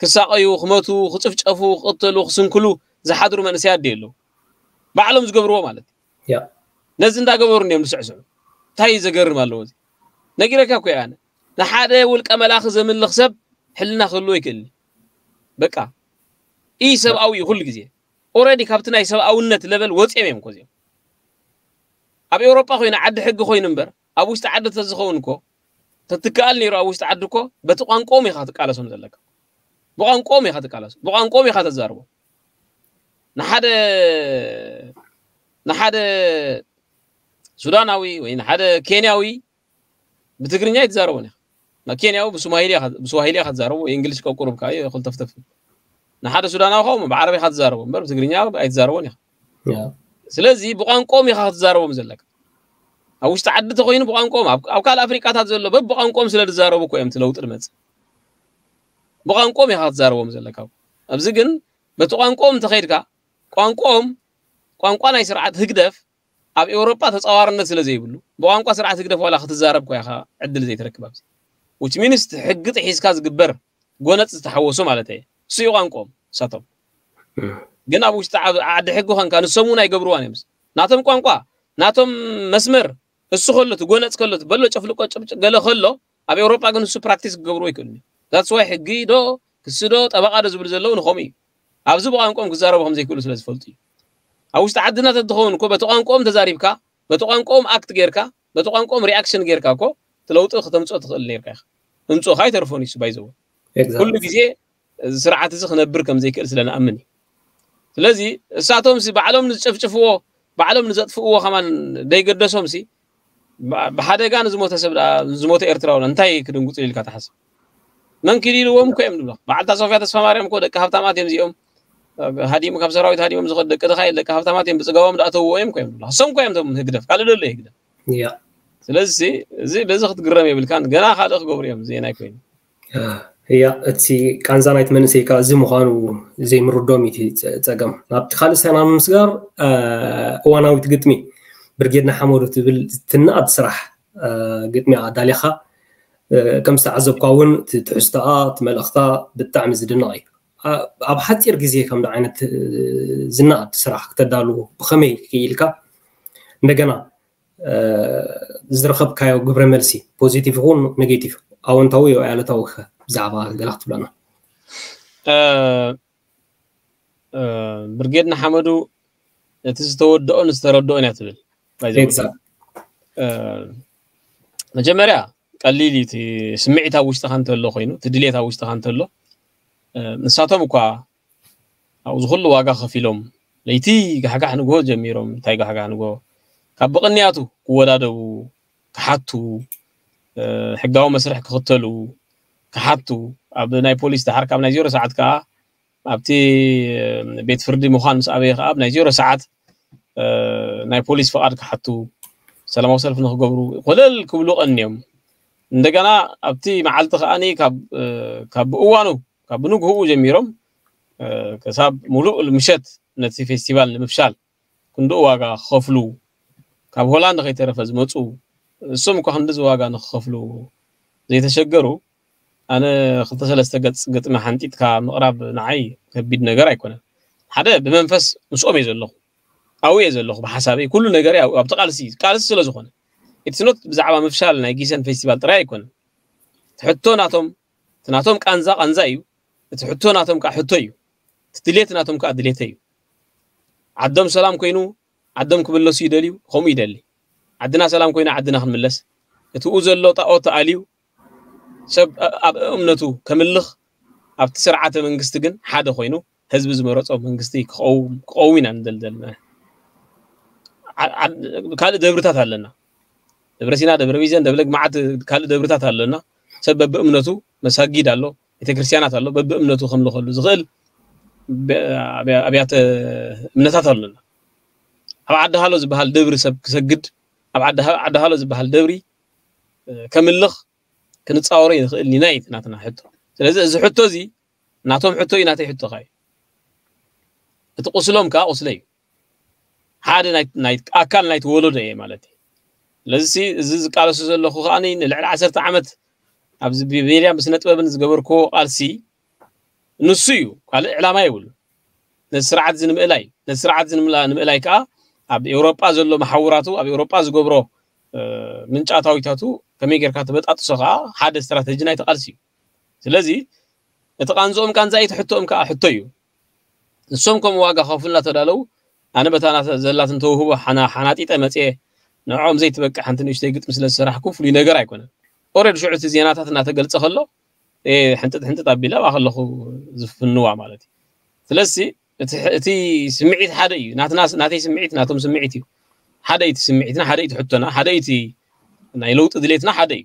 ክሳቐዩ ክመቱ ክፅፍጨፉ ክቕተሉ ክስንክሉ ዝሓድሩ መንእሰያት ዶ የለው? ባዕሎም ዝገብርዎ ማለት እዩ። ነዚ እንዳገበሩ እንዲዮም ዝስዕስዑ። እንታይ እዩ ዘገርም ኣለዎ እዚ? ነጊረካ እኮ እየ ኣነ። ንሓደ ውልቀ መላኺ ዘምልኽ ሰብ ሕልና ክህልዎ ይክእል። በቃ ኢ ሰብኣዊ እዩ ኩሉ ግዜ። ኦረዲ ካብቲ ናይ ሰብኣውነት ለቨል ወፂኦም እዮም እኮ እዚኦም። ኣብ ኤውሮጳ ኮይኑ ዓዲ ሕጊ ኮይኑ እምበር ኣብ ውሽጢ ዓዲ ተዝኸውን እኮ ተትከኣል ነይሩ። ኣብ ውሽጢ ዓዲ እኮ በቲ ቋንቋኦም ኢኻ ትቃለሶም ዘለካ። ብቋንቋኦም ኢኻ ትቃለሶም፣ ብቋንቋኦም ኢኻ ተዛርቦም። ንሓደ ንሓደ ሱዳናዊ ወይ ንሓደ ኬንያዊ ብትግርኛ ኣይትዛረቦን ኢኻ። ንኬንያዊ ብስዋሂሊ ኢኻ ትዛረቦ፣ እንግሊሽ ቀቁሩብካ እዩ፣ ክልተፍተፍ። ንሓደ ሱዳናዊ ከ ብዓረብ ኢኻ ትዛረቦ እምበር ብትግርኛ ኣይትዛረቦን ኢኻ። ስለዚ ብቋንቋኦም ኢኻ ክትዛረቦም ዘለካ። ኣብ ውሽጢ ዓዲ ተኮይኑ ብቋንቋኦም፣ ኣብ ካልእ ኣፍሪቃታት ዘሎ በብቋንቋኦም ስለ ዝዛረቡ እኮ እዮም እቲ ለውጢ ዝመጽእ። ብቋንቋኦም ኢኻ ክትዛረቦም ዘለካ። ኣብዚ ግን በቲ ቋንቋኦም እንተኸይድካ፣ ቋንቋኦም ቋንቋ ናይ ስርዓት ህግደፍ ኣብ ኤውሮጳ ተጻዋርነት ስለ ዘይብሉ ብቋንቋ ስርዓት ህግደፍ ዋላ ክትዛረብ እኳ ኢኻ ዕድል ዘይትረክብ ኣብዚ። Which means ሕጊ ጥሒስካ ዝግበር ጎነጽ ዝተሓወሶ ማለት እየ። እሱ እዩ ቋንቋኦም እሳቶም። ግን ኣብ ውሽጢ ዓዲ ሕጊ ኾንካ ንሶም እውን ኣይገብርዋን እዮም። ናቶም ቋንቋ ናቶም መስመር እሱ ከሎ እቲ ጎነጽ ከሎ እቲ በሎ ጨፍልቆ ጭብጭ ገለ ከሎ ኣብ ኤውሮጳ ግን እሱ ፕራክቲስ ክገብርዎ ይክእሉ። That's why ሕጊ ዶ ክሲ ዶ ጠበቓ ዶ ዝብሉ ዘለዉ ንኸምኡ እዩ። ኣብዚ ብቋንቋኦም ክዛረቡ ከም ዘይክእሉ ስለ ዝፈልጡ እዩ። ኣብ ውሽጢ ዓድና ተትኸውን እኮ በቲ ቋንቋኦም ተዛሪብካ በቲ ቋንቋኦም ኣክት ጌርካ በቲ ቋንቋኦም ሪኣክሽን ጌርካ እኮ እቲ ለውጢ ክተምፅኦ ትኽእል ኔርካ ኢኻ። ምምፅኡኻ ኣይተርፎን እዩ ባይዘው ኩሉ ግዜ እዚ ስርዓት እዚ ክነብር ከም ዘይክእል ስለ ንኣምን እዩ። ስለዚ እሳቶም ሲ ባዕሎም ንዝጨፍጭፍዎ ባዕሎም ንዘጥፍእዎ ከማን ደይገደሶም ሲ ብሓደጋ ንዝሞተ ሰብ ዝሞተ ኤርትራዊ እንታይ ክድንጉፅ ኢልካ ትሓስብ? መን ክሊልዎም እኮ እዮም ዝብሎ። በዓልታ ሶፍያ ተስፋ ማርያም እኮ ደቂ ሃብታማት እዮም እዚኦም። ሃዲሙ ካብ ሰራዊት ሃዲሞም ዝኸዱ ደቂ ድኻ ደቂ ሃብታማት እዮም ብፅጋቦም ዳእተውዎ እዮም እኮ እዮም ዝብሎ። እሶም እኮ እዮም ቶም ህግደፍ ካልእ ደሎ ህግደፍ። ስለዚ እዚ በዚ ክትግረም የብልካን። ገና ካልእ ክገብሩ እዮም ዜና ኣይኮይኑ። እያ እቲ ቃንዛ ናይቲ መንእሰይ ከዓ እዚ ምዃኑ ዘይምርዶም እዩ ጸገም። ናብቲ ካልእ ሰና ንምስጋር እዋናዊት ግጥሚ ብርጌድ ንሓመዱ ትብል ትንኣድ ስራሕ ግጥሚ ኣዳሊኻ ከም ዝተዓዘብኳ እውን እቲ ትሕዝቶኣ እቲ መልእኽታ ብጣዕሚ ዝድነቕ እዩ። ኣብ ሓፂር ግዜ ከምዚ ዓይነት ዝነኣድ ስራሕ ክተዳሉ ብኸመይ ክኢልካ? እንደገና ዝረኸብካዮ ግብረ መልሲ ፖዚቲቭ ይኹን ኔጌቲቭ ኣወንታዊ ወይ ኣሉታዊ ብዛዕባ ገለ ክትብለና? ብርጌድ ንሓመዱ እቲ ዝተወደኦን ዝተረድኦን እያ ትብል። መጀመርያ ቀሊል እዩ እቲ ስምዒት ኣብ ውሽጥኻ እንተሎ ኮይኑ እቲ ድሌት ኣብ ውሽጥኻ እንተሎ ንሳቶም እኳ ኣብዚ ኩሉ ዋጋ ከፊሎም ለይቲ ጋሕጋሕ ንግሆ ጀሚሮም እንታይ ጋሕጋሕ ንግሆ ካብ ብቕንያቱ ክወዳደቡ ክሓቱ ሕጋዊ መስርሕ ክኽተሉ ክሓቱ ኣብ ናይ ፖሊስ ድሓር ካብ ናይ ዜሮ ሰዓት ከዓ ኣብቲ ቤት ፍርዲ ምዃን ምስ ኣበየ ከዓ ኣብ ናይ ዜሮ ሰዓት ናይ ፖሊስ ፍቓድ ክሓቱ ሰላማዊ ሰልፊ ንክገብሩ ኮለል ክብሉ ቀንዮም። እንደገና ኣብቲ መዓልቲ ከዓኒ ካብ ብእዋኑ ካብ ብንግህኡ ጀሚሮም ክሳብ ሙሉእ ምሸት ነቲ ፌስቲቫል ንምፍሻል ክንድኡ ዋጋ ክኸፍሉ ካብ ሆላንድ ከይተረፈ ዝመፁ እሶም እኳ ክንድዚ ዋጋ ንክኸፍሉ ዘይተሸገሩ ኣነ ክልተ ሰለስተ ገፅ ግጥሚ ሓንጢጥካ ምቕራብ ንዓይ ከቢድ ነገር ኣይኮነን። ሓደ ብመንፈስ ምስኦም እየ ዘለኹ ኣብኡ እየ ዘለኹ ብሓሳበይ ኩሉ ነገር ኣብቲ ቃልሲ ቃልሲ ስለ ዝኾነ ኢትስኖት ብዛዕባ ምፍሻል ናይ ጊሰን ፌስቲቫል ጥራይ ኣይኮነን። እቲ ሕቶ ናቶም እቲ ናቶም ቃንዛ ቃንዛ እዩ። እቲ ሕቶ ናቶም ከዓ ሕቶ እዩ። እቲ ድሌት ናቶም ከዓ ድሌተ እዩ። ዓዶም ሰላም ኮይኑ ዓዶም ክምለሱ ይደልዩ ከምኡ ይደሊ። ዓድና ሰላም ኮይኑ ዓድና ክንምለስ እቲ ኡ ዘሎ ጣኦት ተኣልዩ ሰብ ኣብ እምነቱ ከምልኽ ኣብቲ ስርዓተ መንግስቲ ግን ሓደ ኮይኑ ህዝቢ ዝመረፆ መንግስቲ ክቐውም ኢና ንደልደል። ካልእ ደብርታት ኣለና። ደብረ ሲና ደብረ ቢዘን ደብለ ግማዓት ካልእ ደብርታት ኣለና። ሰብ በብእምነቱ መሳጊድ ኣሎ ቤተክርስትያናት ኣሎ በብእምነቱ ከምልኸሉ ዝኽእል ኣብያተ እምነታት ኣለና። ኣብ ዓዲ ሃሎ ዝበሃል ደብሪ ሰብ ክሰግድ ኣብ ዓዲ ሃሎ ዝበሃል ደብሪ ከምልኽ ክንፃወሮ ይንኽእል ኢና እዩ ናትና ሕቶ። ስለዚ እዚ ሕቶ እዚ ናቶም ሕቶ እዩ ናተይ ሕቶ ኸ እቲ ቁስሎም ከዓ ቁስለ እዩ። ሓደ ኣካል ናይቲ ወለዶ እየ ማለት እዩ። ስለዚ እዚ ዝቃለሱ ዘለኹ ከዓ ንልዕሊ ዓሰርተ ዓመት ኣብዚ ብሜድያን ብስነ ጥበብን ዝገበርክዎ ቃልሲ ንሱ እዩ። ካልእ ዕላማ የብሉ። ነዚ ስርዓት እዚ ንምእላይ ነዚ ስርዓት እዚ ንምእላይ ከዓ ኣብ ኤውሮጳ ዘሎ መሓውራቱ ኣብ ኤውሮጳ ዝገብሮ ምንጫታዊታቱ ከመይ ጌርካ ተበጣጥሶ ከዓ ሓደ ስትራተጂ ናይቲ ቃልሲ እዩ። ስለዚ እቲ ቃንዝኦም ቃንዛ እዩ፣ እቲ ሕቶኦም ከዓ ሕቶ እዩ። ንሶም ከምኡ ዋጋ ከፍሉና ተዳለዉ፣ ኣነ በታ ናተ ዘላትን ተውህቦ ሓና ሓናጢጠ መጽየ ንዕኦም ዘይትበቅዕ ሓንቲ ንእሽተይ ግጥሚ ስለ ዝሰራሕኩ ፍሉይ ነገር ኣይኮነን። ኦረድ ሽዑ እቲ ዜናታት እናተገልጸ ከሎ ሕንጥጥ ሕንጥጥ ኣቢለ ኣብኣ ከለኹ ዝፍንዋ ማለት እዩ። ስለዚ እቲ ስምዒት ሓደ እዩ። ናትና ናተይ ስምዒት ናቶም ስምዒት እዩ። ሓደ እዩ እቲ ስምዒትና፣ ሓደ እዩ እቲ ሕቶና፣ ሓደ እዩ እቲ ናይ ለውጢ ድሌትና ሓደ እዩ።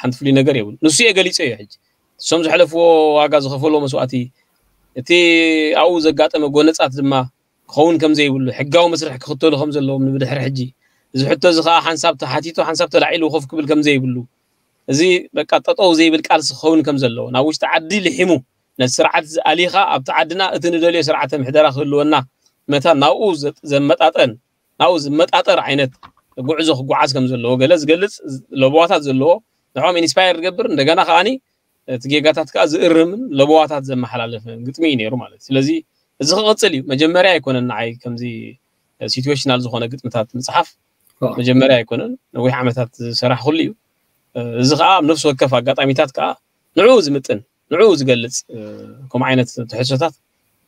ሓንቲ ፍሉይ ነገር የብሉ። ንሱ እየ ገሊጸ እዩ። ሕጂ እሶም ዝሕለፍዎ ዋጋ ዝኸፈልዎ መስዋእቲ፣ እቲ ኣብኡ ዘጋጠመ ጎነጻት ድማ ክኸውን ከም ዘይብሉ፣ ሕጋዊ መስርሕ ክኽተሉ ከም ዘለዎም ንብድሕሪ ሕጂ እዚ ሕቶ እዚ ከዓ ሓንሳብ ተሓቲቱ ሓንሳብ ተላዒሉ ኮፍ ክብል ከም ዘይብሉ፣ እዚ በቃ ጠጠው ዘይብል ቃልሲ ክኸውን ከም ዘለዎ፣ ናብ ውሽጢ ዓዲ ልሒሙ ነቲ ስርዓት ኣሊኻ ኣብቲ ዓድና እቲ ንደልዮ ስርዓተ ምሕደራ ክህልወና መታን ናብኡ ዘመጣጠን ናብኡ ዝመጣጠር ዓይነት ጉዕዞ ክጓዓዝ ከም ዘለዎ ገለ ዝገልጽ ለበዋታት ዘለዎ ንዕኦም ኢንስፓየር ዝገብር እንደገና ከዓኒ እቲ ጌጋታት ከዓ ዝእርምን ለበዋታት ዘመሓላለፈ ግጥሚ እዩ ነይሩ ማለት እዩ። ስለዚ እዚ ክቕጽል እዩ። መጀመርያ ኣይኮነን ንዓይ ከምዚ ሲትዌሽናል ዝኾነ ግጥምታት ምጽሓፍ መጀመርያ ኣይኮነን። ነዊሕ ዓመታት ዝሰራሕኩሉ እዩ። እዚ ከዓ ኣብ ነፍሲ ወከፍ ኣጋጣሚታት ከዓ ንዕኡ ዝምጥን ንዕኡ ዝገልጽ ከምኡ ዓይነት ትሕዝቶታት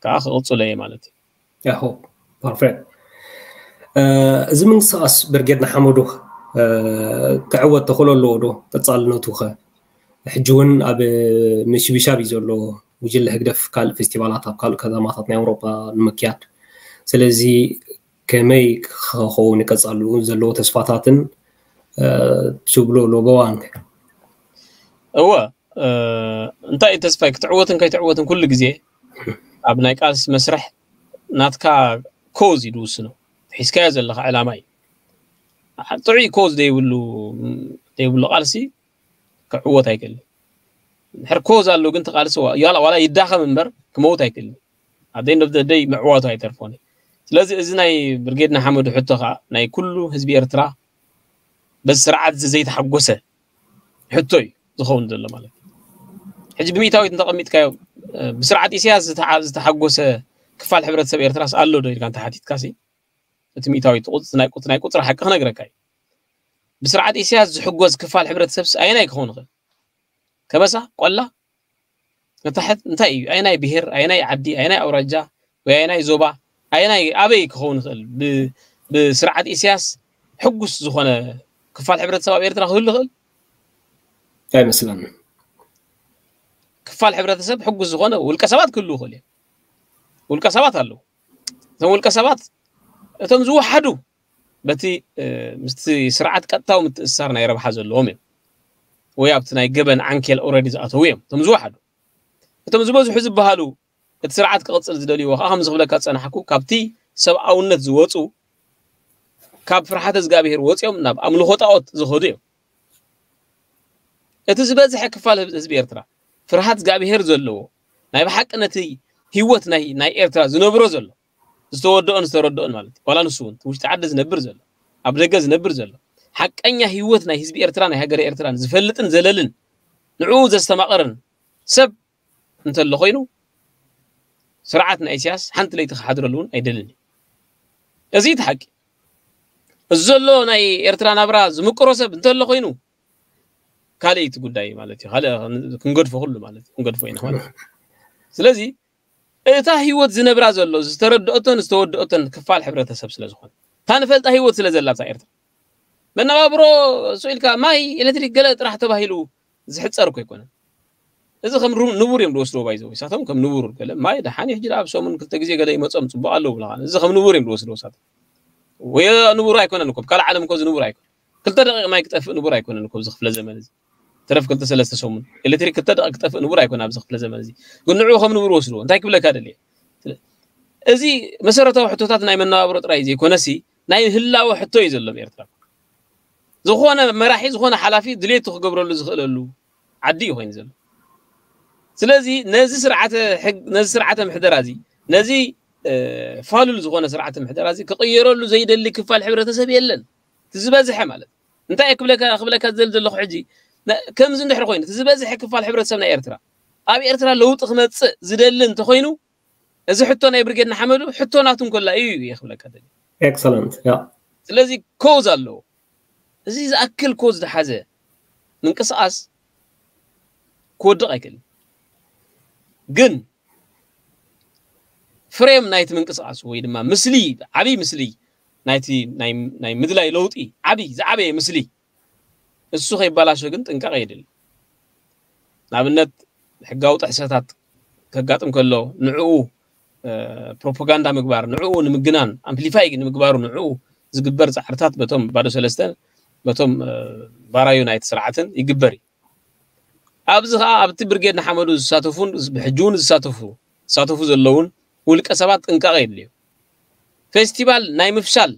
ከዓ ክቕጽሎ እየ ማለት እዩ። ያሆ ፐርፌክት። እዚ ምንቅስቃስ ብርጌድ ንሓመዱ ክዕወት ተኽእሎ ኣለዎ ዶ? ቀጻልነቱ ከ? ሕጂ እውን ኣብ ምሽብሻብ እዩ ዘሎ። ጉጅለ ህግደፍ ካልእ ፌስቲቫላት ኣብ ካልእ ከተማታት ናይ ኣውሮጳ ንምክያድ። ስለዚ ከመይ ክኸውን ይቀጻሉ ዘለዎ ተስፋታትን ትብሎ ለበዋን? እወ እንታይ እዩ ተስፋይ? ክትዕወትን ከይትዕወትን ኩሉ ግዜ ኣብ ናይ ቃልሲ መስርሕ ናትካ ኮዝ እዩ ዝውስኖ። ሒዝካዮ ዘለካ ዕላማ እዩ። ጥዑይ ኮዝ ዘይብሉ ዘይብሉ ቃልሲ ክዕወት ኣይክእልን። ድሕር ኮዝ ኣሎ ግን ተቃልሲ ዋላ ይዳኸም እምበር ክመውት ኣይክእልን። ኣብ ደይ ደይ ምዕዋቱ ኣይተርፎን። ስለዚ እዚ ናይ ብርጌድ ንሓመዱ ሕቶ ከዓ ናይ ኩሉ ህዝቢ ኤርትራ በዚ ስርዓት እዚ ዘይተሓጎሰ ሕቶ እዩ ዝኸውን ዘሎ ማለት እዩ። ሕጂ ብሚእታዊት እንተቐሚጥካዮ ብስርዓት ኢሳያስ ዝተሓጎሰ ክፋል ሕብረተሰብ ኤርትራስ ኣሎ ዶ ኢልካ እንተሓቲትካሲ እቲ ሚእታዊት ናይ ቁፅሪ ሓቂ ክነግረካ እዩ። ብስርዓት ኢሳያስ ዝሕጎዝ ክፋል ሕብረተሰብስ ኣየናይ ክኸውን ይኽእል? ከበሳ፣ ቆላ፣ ንታሕት እንታይ እዩ? ኣየናይ ብሄር፣ ኣየናይ ዓዲ፣ ኣየናይ ኣውራጃ ወይ ኣየናይ ዞባ፣ ኣየናይ ኣበይ ክኸውን ይኽእል? ብስርዓት ኢሳያስ ሕጉስ ዝኾነ ክፋል ሕብረተሰብ ኣብ ኤርትራ ክህሉ ይኽእል? ኣይመስለንን። ክፋል ሕብረተሰብ ሕጉስ ዝኾነ ውልቀ ሰባት ክህሉ ይኽእል እዮም። ውልቀ ሰባት ኣለዉ። እቶም ውልቀ ሰባት እቶም ዝወሓዱ በቲ ምስቲ ስርዓት ቀጥታዊ ምትእስሳር ናይ ረብሓ ዘለዎም እዮም ወይ ኣብቲ ናይ ገበን ዓንኬል ኦረዲ ዝኣተዉ እዮም እቶም ዝወሓዱ። እቶም ዝበዝሑ ዝበሃሉ እቲ ስርዓት ክቕፅል ዝደልይዎ ከዓ ከምዚ ክብለካ ዝፀናሕኩ ካብቲ ሰብኣውነት ዝወፁ ካብ ፍርሓተ እግዚኣብሄር ወፂኦም ናብ ኣምልኾ ጣዖት ዝኸዱ እዮም። እቲ ዝበዝሐ ክፋል ህዝቢ ኤርትራ ፍርሃት እግዚኣብሄር ዘለዎ ናይ ብሓቂ ነቲ ህይወት ናይ ናይ ኤርትራ ዝነብሮ ዘሎ ዝተወደኦን ዝተረድኦን ማለት እዩ። ዋላ ንሱ እውን ውሽጢ ዓዲ ዝነብር ዘሎ ኣብ ደገ ዝነብር ዘሎ ሓቀኛ ህይወት ናይ ህዝቢ ኤርትራ ናይ ሃገረ ኤርትራን ዝፈልጥን ዘለልን ንዕኡ ዘስተማቐርን ሰብ እንተሎ ኮይኑ ስርዓት ናይ ኢሳያስ ሓንቲ ለይቲ ክሓድረሉ እውን ኣይደልን እዩ። እዚ እቲ ሓቂ። እዚ ዘሎ ናይ ኤርትራ ናብራ ዝምቅሮ ሰብ እንተሎ ኮይኑ ካልእ እቲ ጉዳይ ማለት እዩ። ካልእ ክንገድፎ ኩሉ ማለት እዩ። ክንገድፎ ኢና ማለት እዩ። ስለዚ እታ ህይወት ዝነብራ ዘሎ ዝተረድኦቶን ዝተወደኦቶን ክፋል ሕብረተሰብ ስለ ዝኾነ እታ ንፈልጣ ህይወት ስለ ዘላ ኣብዛ ኤርትራ መነባብሮ ስኢልካ ማይ ኤሌክትሪክ ገለ ጥራሕ ተባሂሉ ዝሕፀር እኮ ኣይኮነን። እዚ ከም ንቡር እዮም ዝወስድዎ ባይዘው ሳቶም ከም ንቡር ገለ ማይ ደሓን ሕጂ ኣብ ሰሙን ክልተ ግዜ ገለ ይመፆም ፅቡቅ ኣለዉ ብለካ እዚ ከም ንቡር እዮም ዝወስድዎ ሳቶም ወይ ንቡር ኣይኮነን እኮ ካልእ ዓለም እኮ ዝንቡር ኣይኮነ ክልተ ደቂቅ ማይ ክጠፍእ ንቡር ኣይኮነን እኮ እዚ ክፍለ ዘመን እዚ ተረፍ ክልተ ሰለስተ ሰሙን ኤሌክትሪክ ክልተ ደቂቅ ክጠፍእ ንቡር ኣይኮነ ኣብዚ ክፍለ ዘመን እዚ ግን ንዕኡ ከም ንቡር ወስድዎ እንታይ ክብለካ ደልየ እዚ መሰረታዊ ሕቶታት ናይ መነባብሮ ጥራይ ዘይኮነሲ ናይ ህላወ ሕቶ እዩ ዘሎ ኤርትራ ዝኾነ መራሒ ዝኾነ ሓላፊ ድሌቱ ክገብረሉ ዝኽእለሉ ዓዲ እዩ ኮይኑ ዘሎ ስለዚ ነዚ ስርዓተ ሕግ ነዚ ስርዓተ ምሕደራ እዚ ነዚ ፋሉል ዝኾነ ስርዓተ ምሕደራ እዚ ክቕየረሉ ዘይደሊ ክፋል ሕብረተሰብ የለን እቲ ዝበዝሐ ማለት እንታይ ክብለካ ክብለካ ዝደሊ ዘለኹ ሕጂ ከምዚ እንድሕር ኮይኑ እቲ ዝበዝሐ ክፋል ሕብረተሰብ ናይ ኤርትራ ኣብ ኤርትራ ለውጢ ክመፅእ ዝደሊ እንተኮይኑ እዚ ሕቶ ናይ ብርጌድ ንሓመዱ ሕቶ ናቱ እንኮላ እዩ እየ ክብለካ ደሊ ኤክሰለንት ያ ስለዚ ኮዝ ኣለዎ እዚ ዝኣክል ኮዝ ዝሓዘ ምንቅስቃስ ክወድቕ ኣይክእልን ግን ፍሬም ናይቲ ምንቅስቃስ ወይ ድማ ምስሊ፣ ዓብይ ምስሊ ናይቲ ናይ ምድላይ ለውጢ፣ ዓብይ ዝዓበየ ምስሊ እሱ ከይባላሾ ግን ጥንቃቐ የድሊ። ንኣብነት ሕጋዊ ጥሕሰታት ከጋጥም ከሎ ንዕኡ ፕሮፓጋንዳ ምግባር፣ ንዕኡ ንምግናን፣ ኣምፕሊፋይ ንምግባሩ ንዕኡ ዝግበር ፃዕርታት በቶም ባዶ ሰለስተ፣ በቶም ባራዩ ናይቲ ስርዓትን ይግበር እዩ። ኣብዚ ከዓ ኣብቲ ብርጌድ ንሓመዱ ዝሳተፉን ብሕጂ እውን ዝሳተፉ ዝሳተፉ ዘለውን ውልቀ ሰባት ጥንቃቐ የድልዮ። ፌስቲቫል ናይ ምፍሻል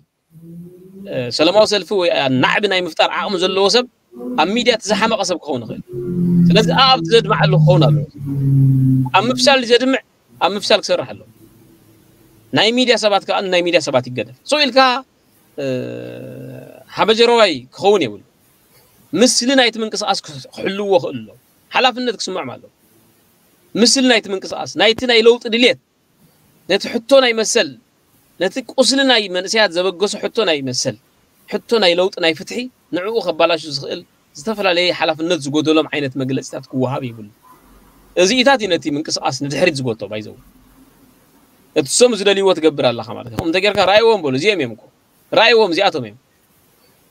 ሰላማዊ ሰልፊ ወይ ናዕቢ ናይ ምፍጣር ዓቕሚ ዘለዎ ሰብ ኣብ ሚድያ እቲ ዝሓመቐ ሰብ ክኸውን ይኽእል። ስለዚ ኣብቲ ዘድምዓሉ ክኸውን ኣለዎ። ኣብ ምፍሻል ዘድምዕ ኣብ ምፍሻል ክሰርሕ ኣለዎ። ናይ ሚድያ ሰባት ከዓ ናይ ሚድያ ሰባት ይገደፍ። ሶ ኢልካ ሓበጀረዋይ ክኸውን የብሉ። ምስሊ ናይቲ ምንቅስቃስ ክሕልዎ ክእል ኣሎ። ሓላፍነት ክስምዖም ኣለዎ። ምስሊ ናይቲ ምንቅስቃስ ናይቲ ናይ ለውጢ ድሌት ነቲ ሕቶ ናይ መሰል ነቲ ቁስሊ ናይ መንእሰያት ዘበገሶ ሕቶ ናይ መሰል ሕቶ ናይ ለውጢ ናይ ፍትሒ ንዕኡ ከባላሹ ዝኽእል ዝተፈላለየ ሓላፍነት ዝጎደሎም ዓይነት መግለፂታት ክወሃብ ይብሉ። እዚኢታት እዩ ነቲ ምንቅስቃስ ንድሕሪት ዝጎቶ ባይዘው እቲ ሰሙ ዝደልይዎ ትገብር ኣለኻ ማለት እዩ። እንተ ጌርካ ራእይዎም በሉ እዚኦም እዮም እኮ ራእይዎም እዚኣቶም እዮም።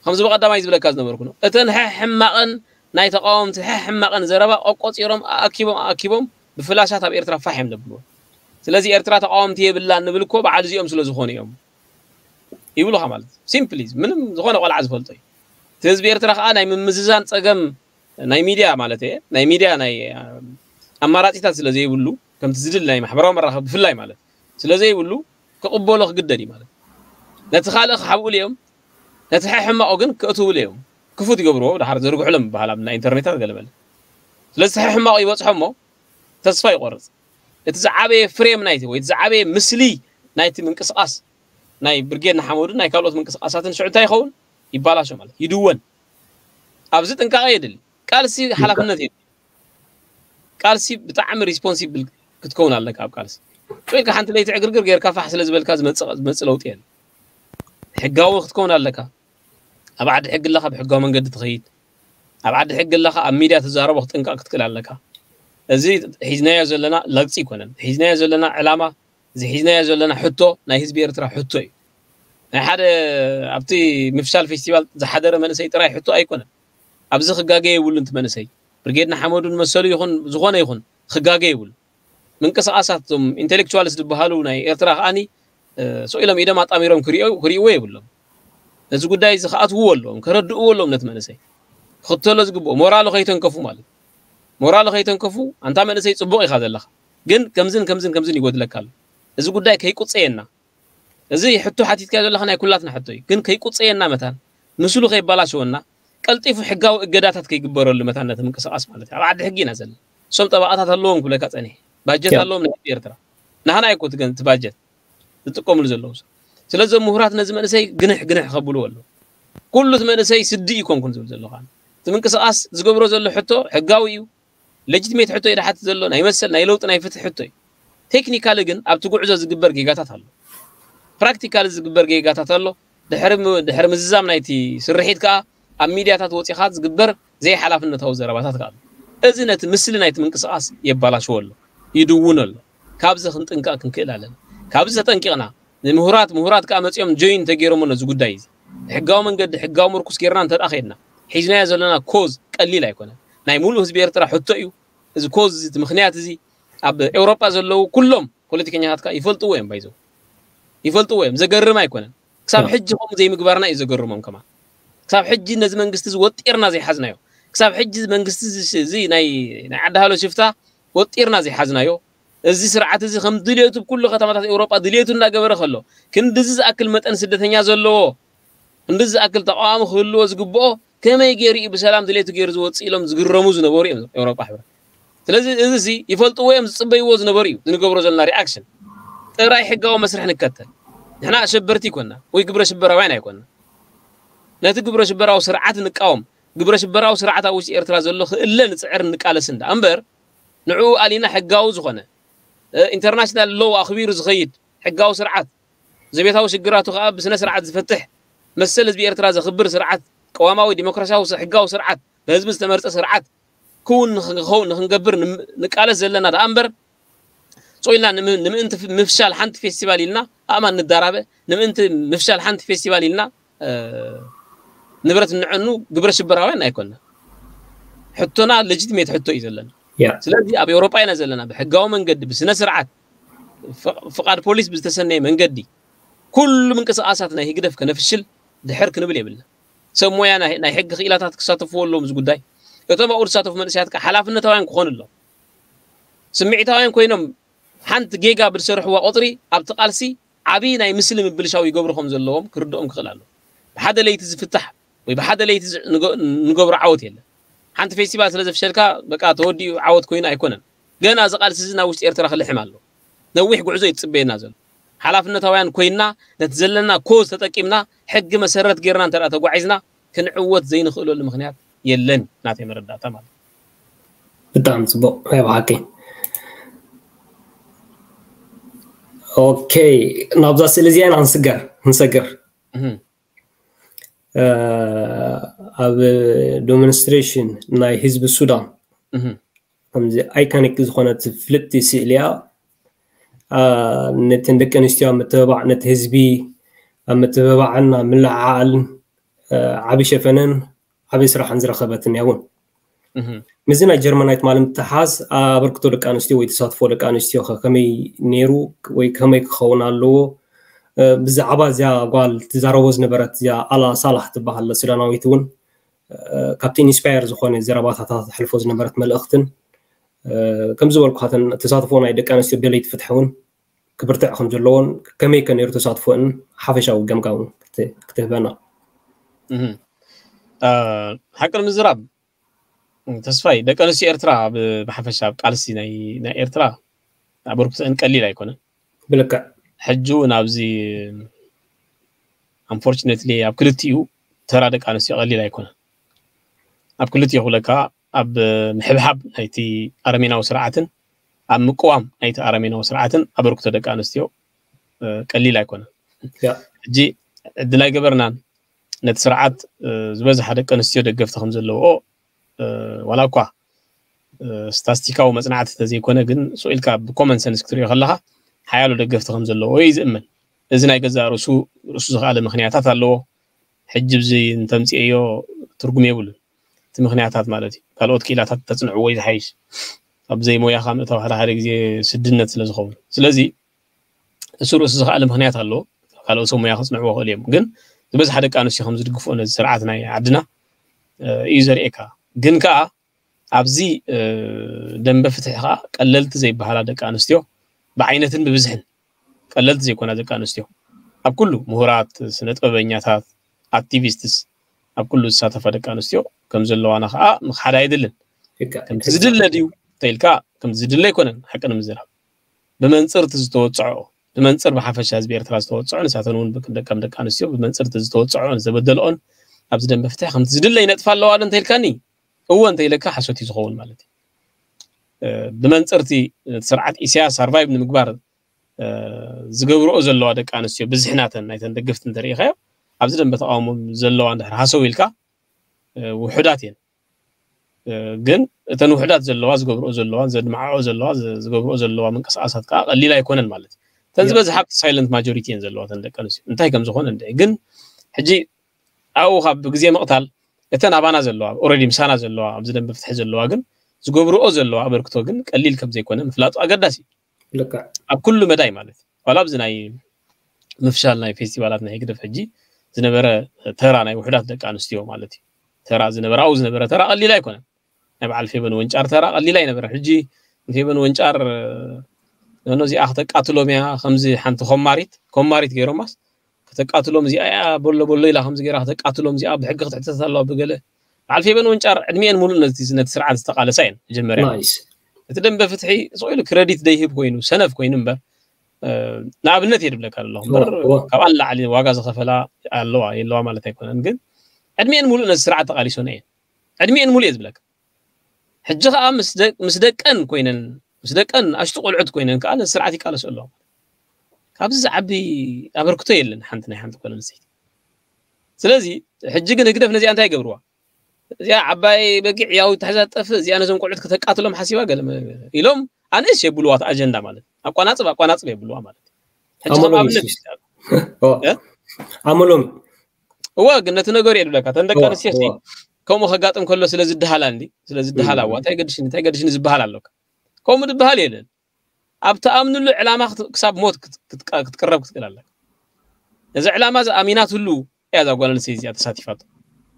ከምዚ ብቐዳማይ ዝብለካ ዝነበርኩ ነው እተን ሕማቐን ናይ ተቃወምቲ ሕማቐን ዘረባ ቆቆፂሮም ኣኣኪቦም ኣኣኪቦም ብፍላሻት ኣብ ኤርትራ ፋሕ እዮም ዘብልዎ። ስለዚ ኤርትራ ተቃወምቲ የብላን ንብል እኮ በዓል እዚኦም ስለ ዝኾኑ እዮም ይብሉኻ ማለት እዩ። ሲምፕሊ ምንም ዝኾነ ቆልዓ ዝፈልጦ እዩ። እቲ ህዝቢ ኤርትራ ከዓ ናይ ምምዝዛን ፀገም ናይ ሚድያ ማለት እየ ናይ ሚድያ ናይ ኣማራፂታት ስለ ዘይብሉ ከምቲ ዝድል ናይ ማሕበራዊ መራኸቢ ብፍላይ ማለት ስለ ዘይብሉ ክቕበሎ ክግደድ እዩ ማለት ነቲ ካልእ ክሓብኡሉ እዮም ነቲ ሕሕማቑ ግን ክእትውሉ እዮም ክፉት ይገብርዎ ድሓር ዘርግሕሎም ይበሃል ኣብ ናይ ኢንተርኔታት ገለመለ ስለዚ ሕሕማቑ ይበፅሖ እሞ ተስፋ ይቆርፅ እቲ ዝዓበየ ፍሬም ናይቲ ወይ ዝዓበየ ምስሊ ናይቲ ምንቅስቃስ ናይ ብርጌድ ንሓመዱን ናይ ካልኦት ምንቅስቃሳትን ሽዑ እንታይ ይኸውን ይባላሾ ማለት ይድወን ኣብዚ ጥንቃቐ የድሊ ቃልሲ ሓላፍነት የድሊ ቃልሲ ብጣዕሚ ሪስፖንሲብል ክትከውን ኣለካ ኣብ ቃልሲ ኢልካ ሓንቲ ለይቲ ዕግርግር ጌርካ ፋሕ ስለ ዝበልካ ዝመፅእ ለውጢ የለ ሕጋዊ ክትከውን ኣለካ ኣብ ዓዲ ሕጊ ኣለካ ብሕጋዊ መንገዲ ትኸይድ ኣብ ዓዲ ሕጊ ኣለካ ኣብ ሚድያ ትዛረቦ ክትጥንቀቅ ክትክእል ኣለካ እዚ ሒዝናዮ ዘለና ለግፂ ይኮነን ሒዝናዮ ዘለና ዕላማ እዚ ሒዝናዮ ዘለና ሕቶ ናይ ህዝቢ ኤርትራ ሕቶ እዩ ናይ ሓደ ኣብቲ ምፍሻል ፌስቲቫል ዝሓደረ መንእሰይ ጥራይ ሕቶ ኣይኮነን ኣብዚ ክጋገ የብሉን እቲ መንእሰይ ብርጌድ ንሓመዱን መሰሉ ይኹን ዝኾነ ይኹን ክጋገ የብሉ ምንቅስቃሳት እቶም ኢንቴሌክቹዋልስ ዝበሃሉ ናይ ኤርትራ ከዓኒ ስቕ ኢሎም ኢዶም ኣጣሚሮም ክርእይዎ የብሎም ነዚ ጉዳይ እዚ ክኣትውዎ ኣለዎም ከረድእዎ ኣለዎም ነቲ መንእሰይ ክኽተሎ ዝግብኦ ሞራሉ ከይተንከፉ ማለት ሞራሉ ከይተንከፉ ኣንታ መንእሰይ ፅቡቕ ኢኻ ዘለኻ ግን ከምዝን ከምዝን ከምዝን ይጎድለካ ኣሎ እዚ ጉዳይ ከይቁፀየና እዚ ሕቶ ሓቲትካዮ ዘለኻ ናይ ኩላትና ሕቶ እዩ ግን ከይቁፀየና መታን ምስሉ ከይባላሸወና ቀልጢፉ ሕጋዊ እገዳታት ከይግበረሉ መታን ነቲ ምንቅስቃስ ማለት እዩ ኣብ ዓዲ ሕጊ ኢና ዘለና እሶም ጠበቃታት ኣለዎም ክብለካ ፀኒሐ ባጀት ኣለዎም ናይ ኤርትራ ናህና እኮ ትገን እቲ ባጀት ዝጥቀምሉ ዘለዉ ስለዚ ምሁራት ነዚ መንእሰይ ግንሕ ግንሕ ከብልዎ ኣለዉ ኩሉ እቲ መንእሰይ ስዲ እዩ ኮንኩን ዝብል ዘለኻ እቲ ምንቅስቃስ ዝገብሮ ዘሎ ሕቶ ሕጋዊ እዩ ሌጂቲሜት ሕቶ እዩ ድሓት ዘሎ ናይ መሰል ናይ ለውጢ ናይ ፍትሒ ሕቶ እዩ ቴክኒካሊ ግን ኣብቲ ጉዕዞ ዝግበር ጌጋታት ኣሎ ፕራክቲካሊ ዝግበር ጌጋታት ኣሎ ድሕሪ ምዝዛም ናይቲ ስርሒት ከዓ ኣብ ሚድያታት ወፂኻ ዝግበር ዘይሓላፍነታዊ ዘረባታት ከዓ ኣሎ እዚ ነቲ ምስሊ ናይቲ ምንቅስቃስ የባላሽዎ ኣሎ ይድውን ኣሎ ካብዚ ክንጥንቀቅ ክንክእል ኣለና ካብዚ ተጠንቂቕና ንምሁራት ምሁራት ከዓ መፂኦም ጆይን ተገይሮሞ ነዚ ጉዳይ እዚ ሕጋዊ መንገዲ ሕጋዊ ምርኩስ ጌርና እንተ ከድና ሒዝናዮ ዘለና ኮዝ ቀሊል ኣይኮነን ናይ ሙሉእ ህዝቢ ኤርትራ ሕቶ እዩ እዚ ኮዝ እዚ ምክንያት እዚ ኣብ ኤውሮጳ ዘለዉ ኩሎም ፖለቲከኛታት ከዓ ይፈልጥዎ እዮም ባይዘው ይፈልጥዎ እዮም ዘገርም ኣይኮነን ክሳብ ሕጂ ከምኡ ዘይምግባርና እዩ ዘገርሞም ከማን ክሳብ ሕጂ ነዚ መንግስቲ እዚ ወጢርና ዘይሓዝናዮ ክሳብ ሕጂ መንግስቲ እዚ ናይ ናይ ዓዲ ሃሎ ሽፍታ ወጢርና ዘይሓዝናዮ እዚ ስርዓት እዚ ከም ድልየቱ ብኩሉ ከተማታት ኤውሮጳ ድልየቱ እናገበረ ከሎ ክንድዚ ዝኣክል መጠን ስደተኛ ዘለዎ ክንድዚ ዝኣክል ተቃዋሚ ክህልዎ ዝግብኦ ከመይ ገይሩ እዩ ብሰላም ድሌቱ ገይሩ ዝወፅእ ኢሎም ዝግረሙ ዝነበሩ እዮም ኤውሮጳ ሕብረት ስለዚ እዚ ሲ ይፈልጥዎ እዮም ዝፅበይዎ ዝነበሩ እዩ ዝንገብሮ ዘለና ሪኣክሽን ጥራይ ሕጋዊ መስርሕ ንከተል ንሕና ኣሸበርቲ ይኮና ወይ ግብረ ሽበራውያን ኣይኮና ነቲ ግብረ ሽበራዊ ስርዓት ንቃወም ግብረ ሽበራዊ ስርዓት ኣብ ውሽጢ ኤርትራ ዘሎ ክእለ ንፅዕር ንቃለስ እንዳ እምበር ንዕኡ ኣሊና ሕጋዊ ዝኾነ ኢንተርናሽናል ሎው ኣኽቢሩ ዝኸይድ ሕጋዊ ስርዓት ዘቤታዊ ሽግራቱ ከዓ ብስነ ስርዓት ዝፈትሕ መሰል ህዝቢ ኤርትራ ዘኽብር ስርዓት ቅዋማዊ ዲሞክራሲያዊ ሕጋዊ ስርዓት ብህዝቢ ዝተመርፀ ስርዓት ክውን ንክኸውን ንክንገብር ንቃለስ ዘለና ደኣ እምበር ሶ ኢልና ንምእንቲ ምፍሻል ሓንቲ ፌስቲቫል ኢልና ኣእማን ንዳራበ፣ ንምእንቲ ምፍሻል ሓንቲ ፌስቲቫል ኢልና ንብረት እንዐኑ ግብረ ሽበራውያን ኣይኮንና። ሕቶና ሌጂቲሜት ሕቶ እዩ ዘለና። ስለዚ ኣብ ኤውሮጳ ኢና ዘለና፣ ብሕጋዊ መንገዲ ብስነ ስርዓት ፍቓድ ፖሊስ ብዝተሰነየ መንገዲ ኩሉ ምንቅስቃሳት ናይ ህግደፍ ከነፍሽል ድሕር ክንብል የብልና። ሰብ ሞያ ናይ ሕጊ ክኢላታት ክሳተፍዎ ኣለዎም እዚ ጉዳይ። እቶም ኣብኡ ዝሳተፉ መንእሰያት ከዓ ሓላፍነታውያን ክኾኑ ኣለዎም። ስምዒታውያን ኮይኖም ሓንቲ ጌጋ ብዝሰርሕዋ ቁፅሪ ኣብቲ ቃልሲ ዓብዪ ናይ ምስሊ ምብልሻው ይገብሩ ከም ዘለዎም ክርድኦም ክኽእል ኣሎ። ብሓደ ለይቲ ዝፍታሕ ወይ ብሓደ ለይቲ ንገብሮ ዓወት የለን። ሓንቲ ፌስቲቫል ስለ ዘፍሸልካ በቃ ተወዲኡ ዓወት ኮይኑ ኣይኮነን። ገና እዚ ቃልሲ እዚ ናብ ውሽጢ ኤርትራ ክልሕም ኣሎ። ነዊሕ ጉዕዞ ይትፅበየና ዘሎ። ሓላፍነታውያን ኮይንና ነቲ ዘለና ኮዝ ተጠቂምና ሕጊ መሰረት ጌርና እንተ ተጓዒዝና ክንዕወት ዘይንኽእለሉ ምኽንያት የለን። ናተይ መረዳእታ ማለት ብጣዕሚ ፅቡቅ ናይ ብሓቂ። ኦኬ፣ ናብዛ ስእሊ እዚኣ ኢና ክንስገር ክንሰግር። ኣብ ዶሚኒስትሬሽን ናይ ህዝቢ ሱዳን ከምዚ ኣይኮኒክ ዝኾነት ፍልጥቲ ስእሊ እያ። ነተን ደቂ ኣንስትዮ ኣብ ምትብባዕ፣ ነቲ ህዝቢ ኣብ ምትብባዕን ኣብ ምልዕዓልን ዓቢ ሸፈነን ዓቢ ስራሕን ዝረኸበትን እያ እውን። ምስዚ ናይ ጀርመናይ ትማሊ ምትሓዝ ኣበርክቶ ደቂ ኣንስትዮ ወይ ተሳትፎ ደቂ ኣንስትዮ ከ ከመይ ነይሩ ወይ ከመይ ክኸውን ኣለዎ? ብዛዕባ እዚኣ ጓል ትዛረቦ ዝነበረት እዚኣ ኣላ ሳላሕ ትበሃል ሱዳናዊት እውን ካብቲ ኢንስፓየር ዝኾነ ዘረባታታ ተሕልፎ ዝነበረት መልእኽትን ከም ዝበልኩኻተን ተሳትፎ ናይ ደቂ ኣንስትዮ ደለይቲ ፍትሒ እውን ክብርትዕ ከም ዘለዎን ከመይ ከ ነይሩ ተሳትፎን ሓፈሻዊ ገምጋም ክትህበና። ሓቂ ንምዝራብ ተስፋይ ደቂ ኣንስትዮ ኤርትራ ብሓፈሻ ኣብ ቃልሲ ናይ ኤርትራ ኣበርክቶአን ቀሊል ኣይኮነን። ብልክዕ ሕጂ እውን ኣብዚ unfortunately ኣብ ክልቲኡ ተራ ደቂ ኣንስትዮ ቀሊል ኣይኮነን። ኣብ ክልቲኡ ክብለካ ኣብ ምሕብሓብ ናይቲ ኣረሜናዊ ስርዓትን ኣብ ምቅዋም ናይቲ ኣረሜናዊ ስርዓትን ኣበርክቶ ደቂ ኣንስትዮ ቀሊል ኣይኮነን። ሕጂ ዕድል ኣይገበርናን። ነቲ ስርዓት ዝበዝሓ ደቂ ኣንስትዮ ደገፍቲ ከም ዘለውኦ ዋላ እኳ ስታስቲካዊ መፅናዕቲ ተዘይኮነ ግን ስቕ ኢልካ ብኮመን ሰንስ ክትሪኦ ከለካ ሓያሎ ደገፍቲ ከም ዘለዎ እዩ ዝእመን። እዚ ናይ ገዛእ ርእሱ ርእሱ ዝኸኣለ ምክንያታት ኣለዎ። ሕጂ ብዚ እንተምፅኤዮ ትርጉም የብሉን። እቲ ምክንያታት ማለት እዩ ካልኦት ክኢላታት ተፅንዕዎ እዩ ዝሓይሽ። ኣብ ዘይሞያኻ ምእታው ሓደ ሓደ ግዜ ስድነት ስለ ዝኸውን ስለዚ እሱ ርእሱ ዝኸኣለ ምክንያት ኣለዎ። ካልኦት ሰብ ሞያ ክፅንዕዎ ክእል እዮም ግን ዝበዝሓ ደቂ ኣንስትዮ ከም ዝድግፍኦ ነዚ ስርዓት ናይ ዓድና እዩ ዘርእየካ። ግን ከዓ ኣብዚ ደንበ ፍትሒ ከዓ ቀለልቲ ዘይበሃላ ደቂ ኣንስትዮ ብዓይነትን ብብዝሕን ቀለልቲ ዘይኮና ደቂ ኣንስትዮ ኣብ ኩሉ ምሁራት፣ ስነ ጥበበኛታት፣ ኣክቲቪስትስ ኣብ ኩሉ ዝሳተፋ ደቂ ኣንስትዮ ከም ዘለዋና ከዓ ምክሓድ ኣይድልን። ከምቲ ዝድለ ድዩ ተኢልካ ከምቲ ዝድለ ኣይኮነን ሓቂ ንምዝራብ ብመንፅር እቲ ዝተወፅዖ ብመንፅር ብሓፈሻ ህዝቢ ኤርትራ ዝተወፅዖ ንሳተን እውን ደቀም ደቂ ኣንስትዮ ብመንፅር እቲ ዝተወፅዖ ዝተበደልኦን ኣብዚ ደንበ ፍትሒ ከምቲ ዝድለ ይነጥፋ ኣለዋ ዶ እንተኢልካኒ እወ እንተኢለካ ሓሶት እዩ ዝኸውን ማለት እዩ። ብመንፅርቲ ስርዓት ኢሳያስ ሰርቫይቭ ንምግባር ዝገብርኦ ዘለዋ ደቂ ኣንስትዮ ብዝሕናተን ናይተን ደገፍቲ እንተሪኢኻዮ ኣብዚ ደንበ ተቃውሞ ዘለዋ እንድሕር ሃሰው ኢልካ ውሑዳት እየን። ግን እተን ውሑዳት ዘለዋ ዝገብርኦ ዘለዋ ዘድማዕኦ ዘለዋ ዝገብርኦ ዘለዋ ምንቅስቃሳት ከዓ ቀሊል ኣይኮነን ማለት እዩ። እተን ዝበዝሓ ኣብቲ ሳይለንት ማጆሪቲ እየን ዘለዋ እተን ደቂ ኣንስትዮ እንታይ ከም ዝኾነ እንድዒ ግን ሕጂ ኣብኡ ካብ ግዜ ምቕታል እተን ኣባና ዘለዋ ኦረዲ ምሳና ዘለዋ ኣብዚ ደንበ ፍትሒ ዘለዋ ግን ዝገብርኦ ዘለዋ ኣበርክቶ ግን ቀሊል ከም ዘይኮነ ምፍላጡ ኣገዳሲ እዩ። ኣብ ኩሉ መዳይ ማለት እዩ። ዋላ ኣብዚ ናይ ምፍሻል ናይ ፌስቲቫላት ናይ ህግደፍ ሕጂ ዝነበረ ተራ ናይ ውሑዳት ደቂ ኣንስትዮ ማለት እዩ። ተራ ዝነበረ ኣብኡ ዝነበረ ተራ ቀሊል ኣይኮነን። ናይ በዓል ፌበን ወንጫር ተራ ቀሊል ኣይነበረን። ሕጂ ንፌበን ወንጫር ነኖ እዚኣ ክተቃትሎም እያ ከምዚ ሓንቲ ኮማሪት ኮማሪት ገይሮማስ ከተቃትሎም እዚኣ እያ በሎ በሎ ኢላ ከምዚ ገይራ ከተቃትሎም እዚኣ ብሕጊ ክትሕተት ኣለዋ ብገለ በዓል ፌበን ወንጫር ዕድሚኤን ሙሉእ ነቲ ነቲ ስርዓት ዝተቃለሳ እየን መጀመርያ ናይስ እቲ ደንበ ፍትሒ ስቕ ኢሉ ክረዲት ደይህብ ኮይኑ ሰነፍ ኮይኑ እምበር ንኣብነት እየ ድብለካ ኣለኹ እምበር ካብኣ ንላዕሊ ዋጋ ዝኸፈላ ኣለዋ የለዋ ማለት ኣይኮነን ግን ዕድሚኤን ሙሉእ ነቲ ስርዓት ተቃሊሶን እየን ዕድሚኤን ሙሉእ እየ ዝብለካ ሕጂ ከዓ ምስ ደቀን ኮይነን ምስ ደቀን ኣሽቱ ቆልዑት ኮይነን ከዓ ነቲ ስርዓት ይቃለሶ ኣለዋ ካብዚ ዝዓቢ ኣበርክቶ የለን ሓንቲ ናይ ሓንቲ ጓል ኣንስተይቲ ስለዚ ሕጂ ግን ህግደፍ ነዚኣ እንታይ ይገብርዋ እዚኣ ዓባይ በጊዕ ያው ተሕዛ ጠፍእ እዚኣ ነዞም ቆልዑት ከተቃትሎም ሓሲባ ገለ ኢሎም ኣነስ የብልዋ እቲ ኣጀንዳ ማለት ኣቋናፅብ ኣቋናፅብ የብልዋ ማለት ሕጂ ከም ኣመሎም ኣብነት ይስስ። ኦ፣ እ? ኣመሎም እወ ግን ነቲ ነገሩ የድብለካ ተን ደቂ እወ፣ ኣንስትዮ ሲ እወ። ከምኡ ከጋጥም ከሎ ስለ ዝድሃላ እንዲ ስለ ዝድሃላ እዋ እንታይ ገድሽኒ እንታይ ገድሽኒ ዝበሃል ኣለካ ከምኡ ዝበሃል የለን ኣብ ተኣምንሉ ዕላማ ክት- ክሳብ ሞት ክት- ክትቀ- ክትቅረብ ክትክእል ኣለካ ነዚ ዕላማ እዚ ኣሚናትሉ እያ እዛ ጓል ኣንስተይቲ እዚኣ ተሳቲፋቶ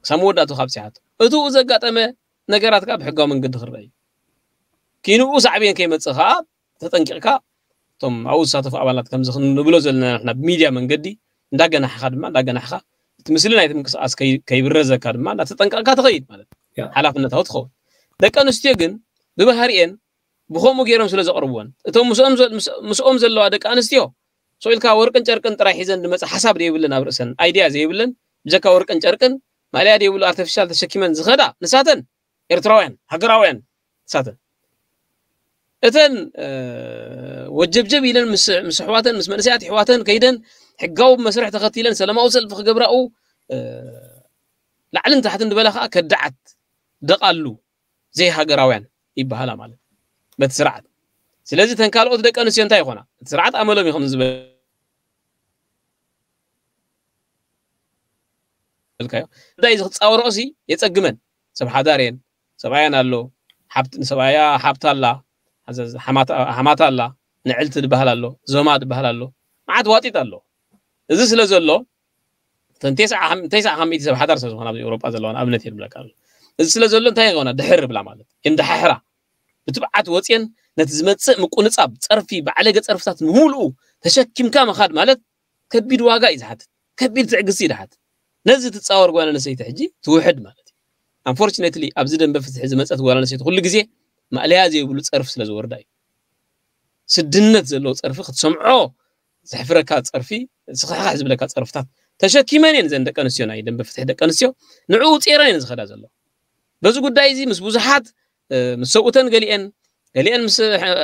ክሳብ መወዳእቱ ካብ ፅሓቶ እትኡ ዘጋጠመ ነገራት ከዓ ብሕጋዊ መንገዲ ክረአ እዩ ኪንኡ ሳዕብየን ከይመፅእ ከዓ ተጠንቂቕካ እቶም ኣብኡ ዝሳተፉ ኣባላት ከምዚ ክንብሎ ዘለና ንሕና ብሚድያ መንገዲ እንዳገናሕኻ ድማ እንዳገናሕኻ እቲ ምስሊ ናይቲ ምንቅስቃስ ከይ- ከይብረዘካ ድማ እንዳተጠንቀቕካ ትኸይድ ማለት እዩ ያ። ሓላፍነታዊ ትኸውን ደቂ ኣንስትዮ ግን ብባህሪኤን ብኸምኡ ገይሮም ስለ ዘቕርብወን እቶም ምስኦም ዘ- ምስ- ምስኦም ዘለዋ ደቂ ኣንስትዮ ሰው ኢልካ ወርቅን ጨርቅን ጥራይ ሒዘን ዝመፀ ሓሳብ ዘይብለን ኣብ ርእሰን ኣይድያ ዘይብለን ብጀካ ወርቅን ጨርቅን ማልያ ዘይብሉ ኣርቲፊሻል ተሸኪመን ዝኸዳ ንሳተን ኤርትራውያን ሃገራውያን ንሳተን እተን እ፣ ወጀብጀብ ኢለን ምስ ምስ ኣሕዋተን ምስ መንእሰያት ኣሕዋተን ከይደን ሕጋዊ መስርሕ ተኸቲለን ሰላማዊ ሰልፊ ክገብራኡ እ፣ ላዕልን ታሕትን ዝበላ ከዓ ከዳዓት ደቓሉ ዘይሃገራውያን ይበሃላ ማለት በቲ ስርዓት ስለዚ ተን ካልኦት ደቂ ኣንስትዮ እንታይ ይኾና እቲ ስርዓት ኣመሎም እዩ ከም ዝበልካዮ እንታይ እዚ ክፃወርኦ ሲ የፀግመን ሰብ ሓዳር እየን ሰብኣያን ኣሎ ሓብት- ንሰብኣያ ሓብታ ኣላ ሓዘ- ሓማታ ሓማታ ኣላ ንዕልቲ ዝበሃል ኣሎ ዞማ ዝበሃል ኣሎ መዓት ዋጢጥ ኣሎ እዚ ስለ ዘሎ እተን ተስዓ ሓም- ተስዓ ካብ ሚእቲ ሰብ ሓዳር ሰብ ዝኾና ኣብ ኤውሮጳ ዘለዋ ኣብነት እየ ዝብለካ ኣሎ እዚ ስለ ዘሎ እንታይ ይኾና ድሕር ብላ ማለት የንድሓሕራ ብትብዓት ወፅየን ነቲ ዝመፅእ ምቁንፃብ ፀርፊ ባዕለገ ፀርፍታት ንምሉኡ ተሸኪምካ ምኻድ ማለት ከቢድ ዋጋ እዩ ዝሓትት ከቢድ ትዕግስቲ እዩ ዝሓትት ነዚ ትፃወር ጓል ኣንስተይቲ ሕጂ ትውሕድ ማለት እዩ unfortunately ኣብዚ ደንበ ፍትሒ ዝመፀት ጓል ኣንስተይቲ ኩሉ ግዜ ማእለያ ዘይብሉ ፀርፊ ስለ ዝወርዳ እዩ ስድነት ዘለዎ ፀርፊ ክትሰምዖ ዘሕፍረካ ፀርፊ ስኽሕኻሕ ዝብለካ ፀርፍታት ተሸኪመን እየን ዘን ደቂ ኣንስትዮ ናይ ደንበ ፍትሒ ደቂ ኣንስትዮ ንዕኡ ውፅረን እየን ዝኸዳ ዘሎ በዚ ጉዳይ እዚ ምስ ብዙሓት ምስ ሰብኡተን ገሊአን ገሊአን ምስ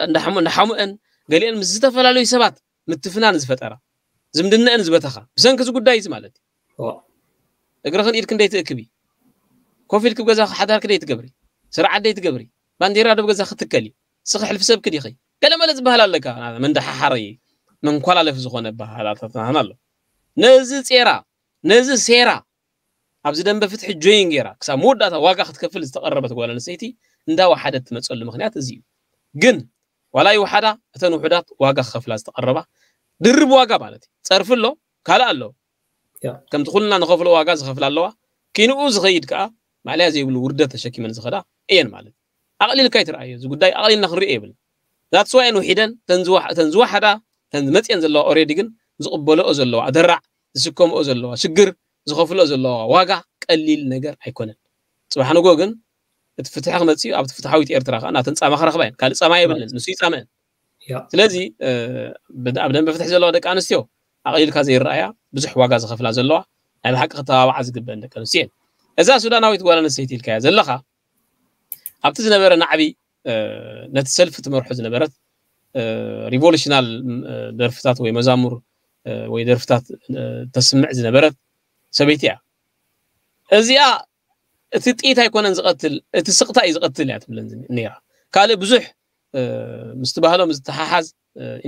እንዳሓሙአን ገሊአን ምስ ዝተፈላለዩ ሰባት ምትፍናን ዝፈጠራ ዝምድነአን ዝበተኻ ብሰንኪ እዚ ጉዳይ እዚ ማለት እዩ እግርኽን ኢድክን ደይትእክቢ ኮፍ ኢልክ ገዛ ሓዳርክ ደይትገብሪ ስርዓት ደይትገብሪ ባንዴራ ደብ ገዛ ክትከሊ ስኺ ሕልፊ ሰብክ ዲኺ ገለመለ ዝበሃል ኣለካ መንደሓሓሪ መንኳላለፊ ዝኾነ ባህላታትና ኣሎ ነዚ ጼራ ነዚ ሴራ ኣብዚ ደንበ ፍትሒ ጆይን ገይራ ክሳብ መወዳእታ ዋጋ ክትከፍል ዝተቐረበት ጓል ኣንስተይቲ እንዳወሓደት ትመፀሉ ምክንያት እዚ እዩ ግን ዋላ ይወሓዳ እተን ውሑዳት ዋጋ ክከፍላ ዝተቐረባ ድርብ ዋጋ ማለት እዩ ፀርፊ ኣሎ ካልእ ኣሎ ከምቲ ኩልና ንኸፍሎ ዋጋ ዝኸፍላ ኣለዋ ኪንኡ ዝኸይድ ከዓ ማዕለያ ዘይብሉ ውርደት ተሸኪመን ዝኸዳ እየን ማለት ኣቕሊልካ ይትረኣዮ እዚ ጉዳይ ኣቕሊልና ክንሪኦ የብልና that's why እየን ውሒደን እተን ዝወሓዳ እተን ዝመፅየን ዘለዋ already ግን ዝቕበልኦ ዘለዋ ኣደራዕ ዝስከምኦ ዘለዋ ሽግር ዝኸፍልኦ ዘለዋ ዋጋ ቀሊል ነገር ኣይኮነን ፅባሕ ንጎ ግን እቲ ፍትሒ ክመፅእ ኣብቲ ፍትሓዊት ኤርትራ ከዓ ናተን ፃማ ክረኽባ እየን ካልእ ፃማ የብለን ንሱ ይፃመአን ስለዚ ኣብ ደንበ ፍትሒ ዘለዋ ደቂ ኣንስትዮ ኣቕሊልካ ዘይረኣያ ብዙሕ ዋጋ ዝኸፍላ ዘለዋ ናይ ብሓቂ ክተባባዓ ዝግበአን ደቂ ኣንስትዮ እየን እዛ ሱዳናዊት ጓል ኣንስተይቲ ኢልካያ ዘለኻ ኣብቲ ዝነበረ ናዕቢ ነቲ ሰልፊ ትመርሖ ዝነበረት revolutional ደርፍታት ወይ መዛሙር ወይ ደርፍታት ተስምዕ ዝነበረት ሰበይቲ እያ እዚኣ እቲ ጥይት ኣይኮነን ዝቐትል እቲ ስቕታ እዩ ዝቐትል እያ ትብለን ነራ ካልእ ብዙሕ ምስቲ ባህሎም ዝተሓሓዝ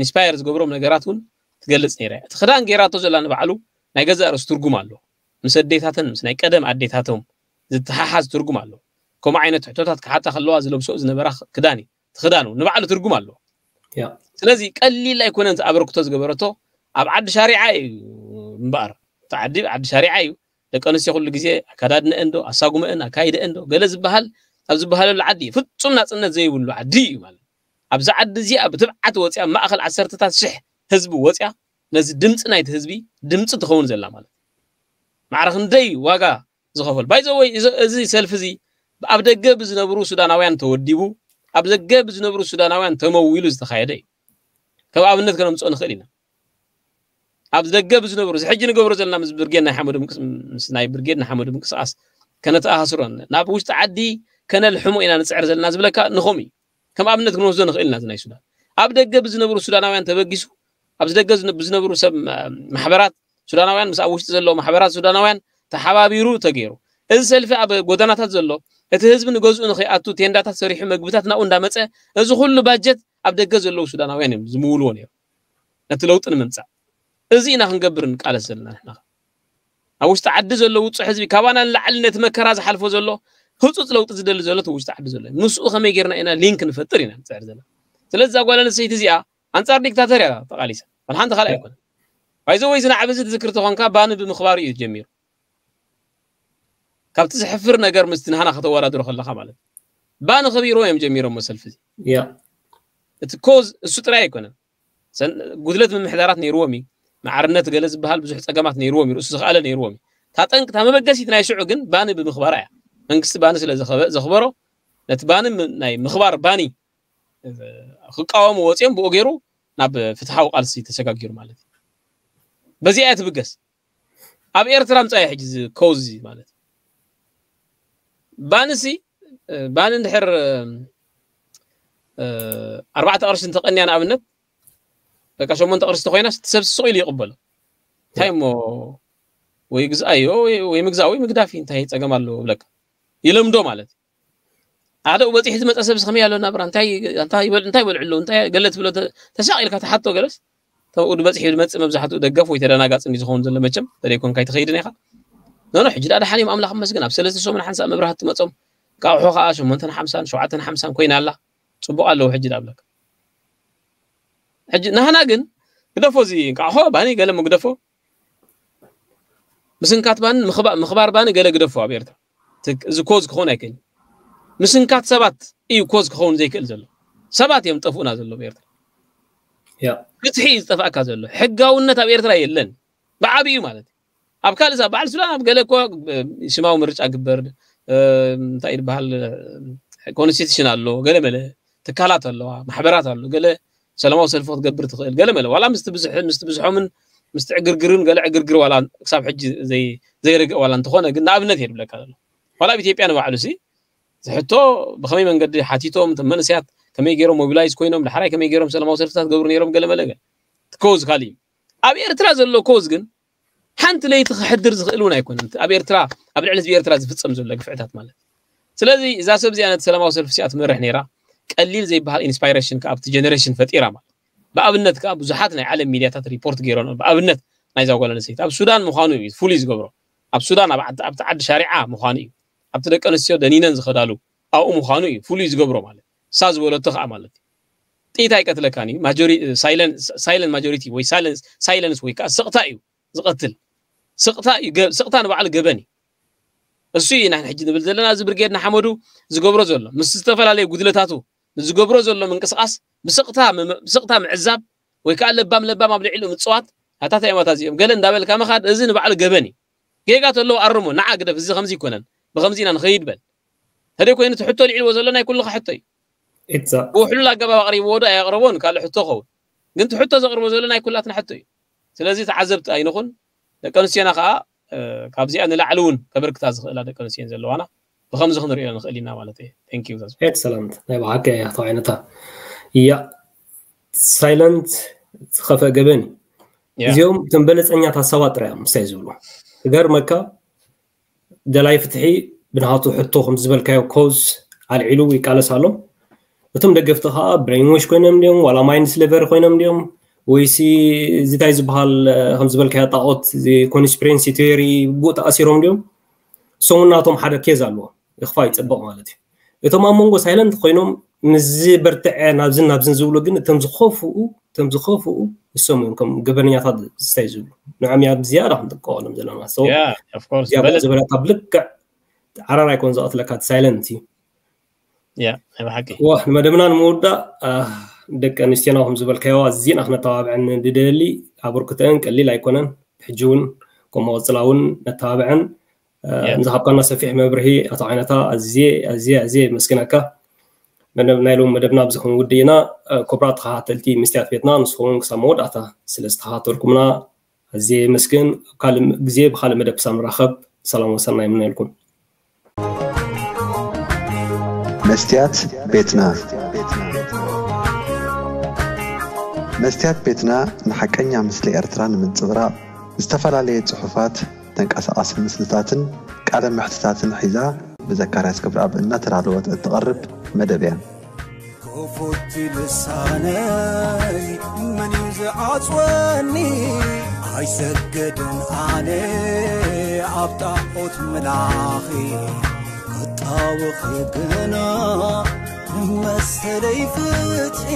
inspire ዝገብሮም ነገራት እውን ትገልፅ ነራ እቲ ክዳን ገይራቶ ዘላ ንባዕሉ ናይ ገዛእ ርእሱ ትርጉም ኣሎ ምስ ኣዴታተን ምስ ናይ ቀደም ኣዴታቶም ዝተሓሓዝ ትርጉም ኣሎ ከምኡ ዓይነት ሕቶታት ክሓታ ከለዋ ዝለብሶ ዝነበራ ክዳን እዩ ትኽዳኑ ንባዕሉ ትርጉም ኣለዎ ስለዚ ቀሊል ኣይኮነን ኣበርክቶ ዝገበረቶ ኣብ ዓዲ ሻሪዓ እዩ እምበኣር እቲ ዓዲ ዓዲ ሻሪዓ እዩ ደቂ ኣንስትዮ ኩሉ ግዜ ኣካዳድነአን ዶ ኣሳጉመአን ኣካይደአን ዶ ገለ ዝበሃል ኣብ ዝበሃለሉ ዓዲ ፍጹም ናፅነት ዘይብሉ ዓዲ እዩ ማለት ኣብዚ ዓዲ እዚኣ ብትብዓት ወፅያ ማእኸል ዓሰርተታት ሽሕ ህዝቢ ወፅያ ነዚ ድምፂ ናይቲ ህዝቢ ድምፂ ትኸውን ዘላ ማለት ማዕረ ክንደይ ዋጋ ዝኸፈል ባይዘወይ እዚ ሰልፊ እዚ ኣብ ደገ ብዝነብሩ ሱዳናውያን ተወዲቡ ኣብ ደገ ብዝነብሩ ሱዳናውያን ተመዊሉ ዝተኻየደ እዩ ከም ኣብነት ከነምፅኦ ንኽእል ኢና ኣብ ደገ ብዝነብሩ እዚ ሕጂ ንገብሮ ዘለና ምስ ብርጌድ ናይ ሓመዱ ምስ ናይ ብርጌድ ናይ ሓመዱ ምንቅስቃስ ከነተኣሳስሮን ናብ ውሽጢ ዓዲ ከነልሕሞ ኢና ንፅዕር ዘለና ዝብለካ ንኸም እዩ ከም ኣብነት ክንወስዶ ንኽእል ኢና ናይ ሱዳን ኣብ ደገ ብዝነብሩ ሱዳናውያን ተበጊሱ ኣብዚ ደገ ብዝነብሩ ሰብ ማሕበራት ሱዳናውያን ምስ ኣብ ውሽጢ ዘለዉ ማሕበራት ሱዳናውያን ተሓባቢሩ ተገይሩ እዚ ሰልፊ ኣብ ጎዳናታት ዘሎ እቲ ህዝቢ ንገዝኡ ንኸይኣቱ ቴንዳታት ሰሪሑ መግብታት ናብኡ እንዳመፀ እዚ ኩሉ ባጀት ኣብ ደገ ዘለዉ ሱዳናውያን እዮም ዝምውልዎ ነይሩ ነቲ ለውጢ ንምምፃእ። እዚ ኢና ክንገብር ንቃለስ ዘለና ንሕና። ኣብ ውሽጢ ዓዲ ዘሎ ውፁዕ ህዝቢ ካባና ንላዕሊ ነቲ መከራ ዝሓልፎ ዘሎ ህፁፅ ለውጢ ዝደሊ ዘሎ እቲ ውሽጢ ዓዲ ዘሎ እዩ። ምስኡ ከመይ ጌርና ኢና ሊንክ ንፈጥር ኢና ንፅዕር ዘለና። ስለዚ እዛ ጓል ኣንስተይቲ እዚኣ ኣንፃር ዲክታተር እያ ተቓሊሳ። ዋላ ሓንቲ ካልእ ኣይኮነን። ባይዘ ወይ ዝናዕብ እዚ ትዝክር ተኾንካ ባኒ ብምኽባር እዩ ጀሚሩ። ካብቲ ዝሕፍር ነገር ምስቲ ንሃና ከተወዳድሮ ከለኻ ማለት እዩ። ባኒ ከቢርዎ እዮም ጀሚሮሞ ሰልፊ እዚ። ያ እቲ ኮዝ እሱ ጥራይ ኣይኮነን። ሰን- ጉድለት ምምሕዳራት ነይርዎም እዩ። ማዕርነት ገለ ዝበሃል ብዙሕ ፀገማት ነይርዎም እዩ። ርእሱ ዝኸኣለ ነይርዎም እዩ። እታ ጠንቂ እታ መበገሲት ናይ ሽዑ ግን ባኒ ብምኽባራ እያ። መንግስቲ ባኒ ስለ ዘኸበ- ዘኽበሮ ነቲ ባኒ ም- ናይ ምኽባር ባኒ እ፣ ክቃወሙ ወፂኦም ብኡ ገይሩ ናብ ፍትሓዊ ቃልሲ ተሰጋጊሩ ማለት እዩ። በዚኣ እያ ትብገስ። ኣብ ኤርትራ ምፃ እዩ ሕጂ እዚ ኮዝ ማለት እዩ። ባንሲ እ፣ ባን እንድሕር እ፣ ኣርባዕተ ቅርሺ እንተቐንያ ንኣብነት በቃ ሸሞንተ ቅርሺ ተኮይናስ እቲ ሰብ ስቕ ኢሉ ይቕበሎ። እንታይ እሞ ወይ ግዝኣዮ ወይ- ወይ ምግዛእ ወይ ምግዳፍ እዩ፣ እንታይ ፀገም ኣለዎ ብለካ ይለምዶ ማለት እዩ። ሓደ በፂሑ ዝመፀ ሰብ ከመይ ኣሎ ናብራ እንታይ እንታይ ይበል እንታይ ይበልዑ ኣለዉ እንታይ ገለ ትብሎ ተ- ተሳቕ ኢልካ ተሓቶ ገለስ ተብኡ በፂሑ ዝመፅእ መብዛሕትኡ ደገፍ ወይ ተደናጋፂ እንዲ ዝኸውን ዘሎ መቸም ተደይኮንካ ኣይትኸይድን ኢኻ። ኖኖ ሕጂ ዳ ደሓን እዮም ኣምላኽ መስግን ኣብ ሰለስተ ሰሙን ሓንሳእ መብራህቲ መፆም ቃቑሑ ከዓ ሸሞንተን ሓምሳን ሸውዓተን ሓምሳን ኮይና ኣላ። ፅቡቕ ኣለዉ ሕጂ ዳ ብለካ። ሕጂ ናህና ግን ግደፎ እዚ እንቃዕሖ ባኒ ገለ ምግደፎ ምስንካት ባኒ ምኽባ- ምኽባር ባኒ ገለ ግደፎ ኣብ ኤርትራ ትክ- እዚ ኮዝ ክኸውን ኣይክእል። ምስንካት ሰባት እዩ ኮዝ ክኸውን ዘይክእል ዘሎ። ሰባት እዮም ጠፍኡና ዘሎ ኣብ ኤርትራ። ያ ፍትሒ እዩ ዝጠፍኣካ ዘሎ። ሕጋውነት ኣብ ኤርትራ የለን። ብዓብዩ ማለት እዩ። ኣብ ካልእ ዛ- በዓል ሱዳን ኣብ ገለ እኮ እ፣ ስማዊ ምርጫ ግበር እ፣ እንታይ ዝበሃል ኮንስቲቱሽን ኣሎ ገለ መለ ትካላት ኣለዋ ማሕበራት ኣሎ ገለ ሰላማዊ ሰልፊ ክትገብር ትኽእል ገለ መለ ዋላ ምስቲ ብዙሕ ምስቲ ብዙሖምን ምስቲ ዕግርግርን ገለ ዕግርግር ዋላ ክሳብ ሕጂ ዘይ ዘይርግእ ዋላ እንተኾነ ግን ንኣብነት እየ ዝብለካ ዘሎ ዋላ ኣብ ኢትዮጵያ ንባዕሉ ሲ ዝሕቶ ብኸመይ መንገዲ ሓቲቶም እቶም መንእሰያት ከመይ ገይሮም ሞቢላይዝ ኮይኖም ዳሕራይ ከመይ ገይሮም ሰላማዊ ሰልፍታት ገብሩ ነይሮም ገለ መለ ገለ እቲ ኮዝ ካልእ እዩ ኣብ ኤርትራ ዘሎ ኮዝ ግን ሓንቲ ለይቲ ክሕድር ዝኽእል እውን ኣይኮነን ኣብ ኤርትራ ኣብ ልዕሊ ህዝቢ ኤርትራ ዝፍፀም ዘሎ ግፍዕታት ማለት ስለዚ እዛ ሰብ እዚኣ ነቲ ሰላማዊ ሰልፊ እዚኣ ትመርሕ ነይራ ቀሊል ዘይበሃል ኢንስፓይሬሽን ከኣ ኣብቲ ጀነሬሽን ፈጢራ ማለት ብኣብነት ከኣ ብዙሓት ናይ ዓለም ሚድያታት ሪፖርት ገይሮን ብኣብነት ናይዛ ጓል ኣንስተይቲ ኣብ ሱዳን ምዃኑ እዩ ፍሉይ ዝገብሮ ኣብ ሱዳን ኣብ ዓዲ- ኣብቲ ዓዲ ሻሪዓ ምዃኑ እዩ ኣብቲ ደቂ ኣንስትዮ ደኒነን ዝኸዳሉ ኣብኡ ምዃኑ እዩ ፍሉይ ዝገብሮ ማለት እሳ ዝበለቶ ከኣ ማለት እዩ ጥይት ኣይቀትለካን እዩ ማጆሪ- ሳይለን- ሳይለንት ማጆሪቲ ወይ ሳይለንስ ሳይለንስ ወይ ከኣ ስቕታ እዩ ዝቐትል ስቕታ እዩ ገ- ስቕታ ንባዕሉ ገበን እዩ እሱ ኢና ሕጂ ንብል ዘለና እዚ ብርጌድ ንሓመዱ ዝገብሮ ዘሎ ምስ ዝተፈላለዩ ጉድለታቱ ዝገብሮ ዘሎ ምንቅስቃስ ብስቕታ ምም- ብስቕታ ምዕዛብ ወይ ከዓ ለባም ለባም ኣብ ልዕሊኡ ምፅዋት ኣታታ እዮም ኣታ እዚኦም ገለ እንዳበልካ ምኻድ እዚ ንባዕሉ ገበን እዩ ጌጋ ተለዎ ኣርሞ ንዓ ግደፍ እዚ ከምዚ ይኮነን ብከምዚ ኢና ንኸይድ በል ተደይ ኮይኑ ትሕቶ ልዕልዎ ዘሎ ናይ ኩልኻ ሕቶ እዩ exact ብውሕሉል ኣገባብ ኣቕሪብዎ ዶ ኣየቕረቦን ካልእ ሕቶ ኸውን ግን ትሕቶ ዘቕርቦ ዘሎ ናይ ኩላትና ሕቶ እዩ ስለዚ ተዓዘብቲ ኣይንኹን ደቂ ኣንስትዮና ከዓ እ፣ ካብዚኣ ንላዕሊ እውን ከበርክታ ዝኽእላ ደቂ ኣንስትዮ ዘለዋና ብከምዚ ክንሪኦ ንኽእል ኢና ማለት እዩ thank you ዛዙ excellent ናይ ብሓቂ እያ ተባዒነታ እያ ሳይለንት ዝኸፈ ገበን እዩ ያ እዚኦም እቶም በለፀኛታት ሰባት ጥራይ እዮም ምስታይ ዝብሉ እገርመካ ደላይ ፍትሒ ብናቱ ሕቶ ከም ዝበልካዮ ኮዝ ኣልዒሉ ይቃለስ ኣሎ እቶም ደገፍቲ ከዓ ብሬንወሽ ኮይኖም ድዮም ዋላ ማይንድ ስሌቨር ኮይኖም ድዮም ወይሲ እዚታይ ዝበሃል ከም ዝበልካዮ ጣዖት ኮንስፒሬንሲ ቴሪ ብኡ ተኣሲሮም ድዮም እሶም ናቶም ሓደ ኬዝ ኣለዎ ይኽፋ ይፅብቕ ማለት እዩ እቶም ኣብ መንጎ ሳይለንት ኮይኖም ምዚ በርትዐ ናብዝን ናብዝን ዝብሉ ግን እቶም ዝኸፍኡ እቶም ዝኸፍኡ እሶም እዮም ከም ገበነኛታት ዝታይ ዝብሉ ንዖም እያ ብዝያዳ ክንጥቀቐሎም ዘለና so Yeah, of course. እዚኣ በለጥ- ዝበለታ ብልክዕ ዓራር ኣይኮን ዝቐትለካ ሳይለንት እዩ Yeah፣ ናይ ብሓቂ። ዋ ንመደብና ንምውዳእ አ፣ ደቂ ኣንስትዮና ከም ዝበልካዮ ኣዝና ክነተባብዐን ንደሊ ኣበርክተአን ቀሊል ኣይኮነን ሕጂ እውን ከም መቐፅላ እውን ነተባብዐን አ፣ Yeah. ንዝሃብካና ሰፊሕ መብርሂ ኣቶ ዓይነታ ኣዝየ ኣዝየ ኣዝየ የመስግነካ መደብ ናይ ሎም መደብና ኣብዚ ክንውድእ ኢና አ፣ ክቡራት ተኸታተልቲ መስትያት ቤትና ንስኹም ክሳብ መወዳእታ ስለ ዝተኸታተልኩምና ኣዝየ የመስግን ኣብ ካልእ ግዜ ብካልእ መደብ ክሳብ ንራኸብ ሰላም ወሰና ይምነልኩም መስትያት ቤትና መስትያት ቤትና ንሓቀኛ ምስሊ ኤርትራ ንምንጽብራቕ ዝተፈላለየ ጽሑፋት ተንቀሳቓሲ ምስልታትን ቃለ መሕትታትን ሒዛ ብዘካርያስ ክብረኣብ እናተዳለወት እትቐርብ መደብ እያ። ክፉት ልሳነይ መን እዩ ዝዓጽወኒ? ኣይሰገድን ኣነ ኣብ ጣዖት ምላኺ ክጣወኺ ግና ንመሰለይ ፍትሒ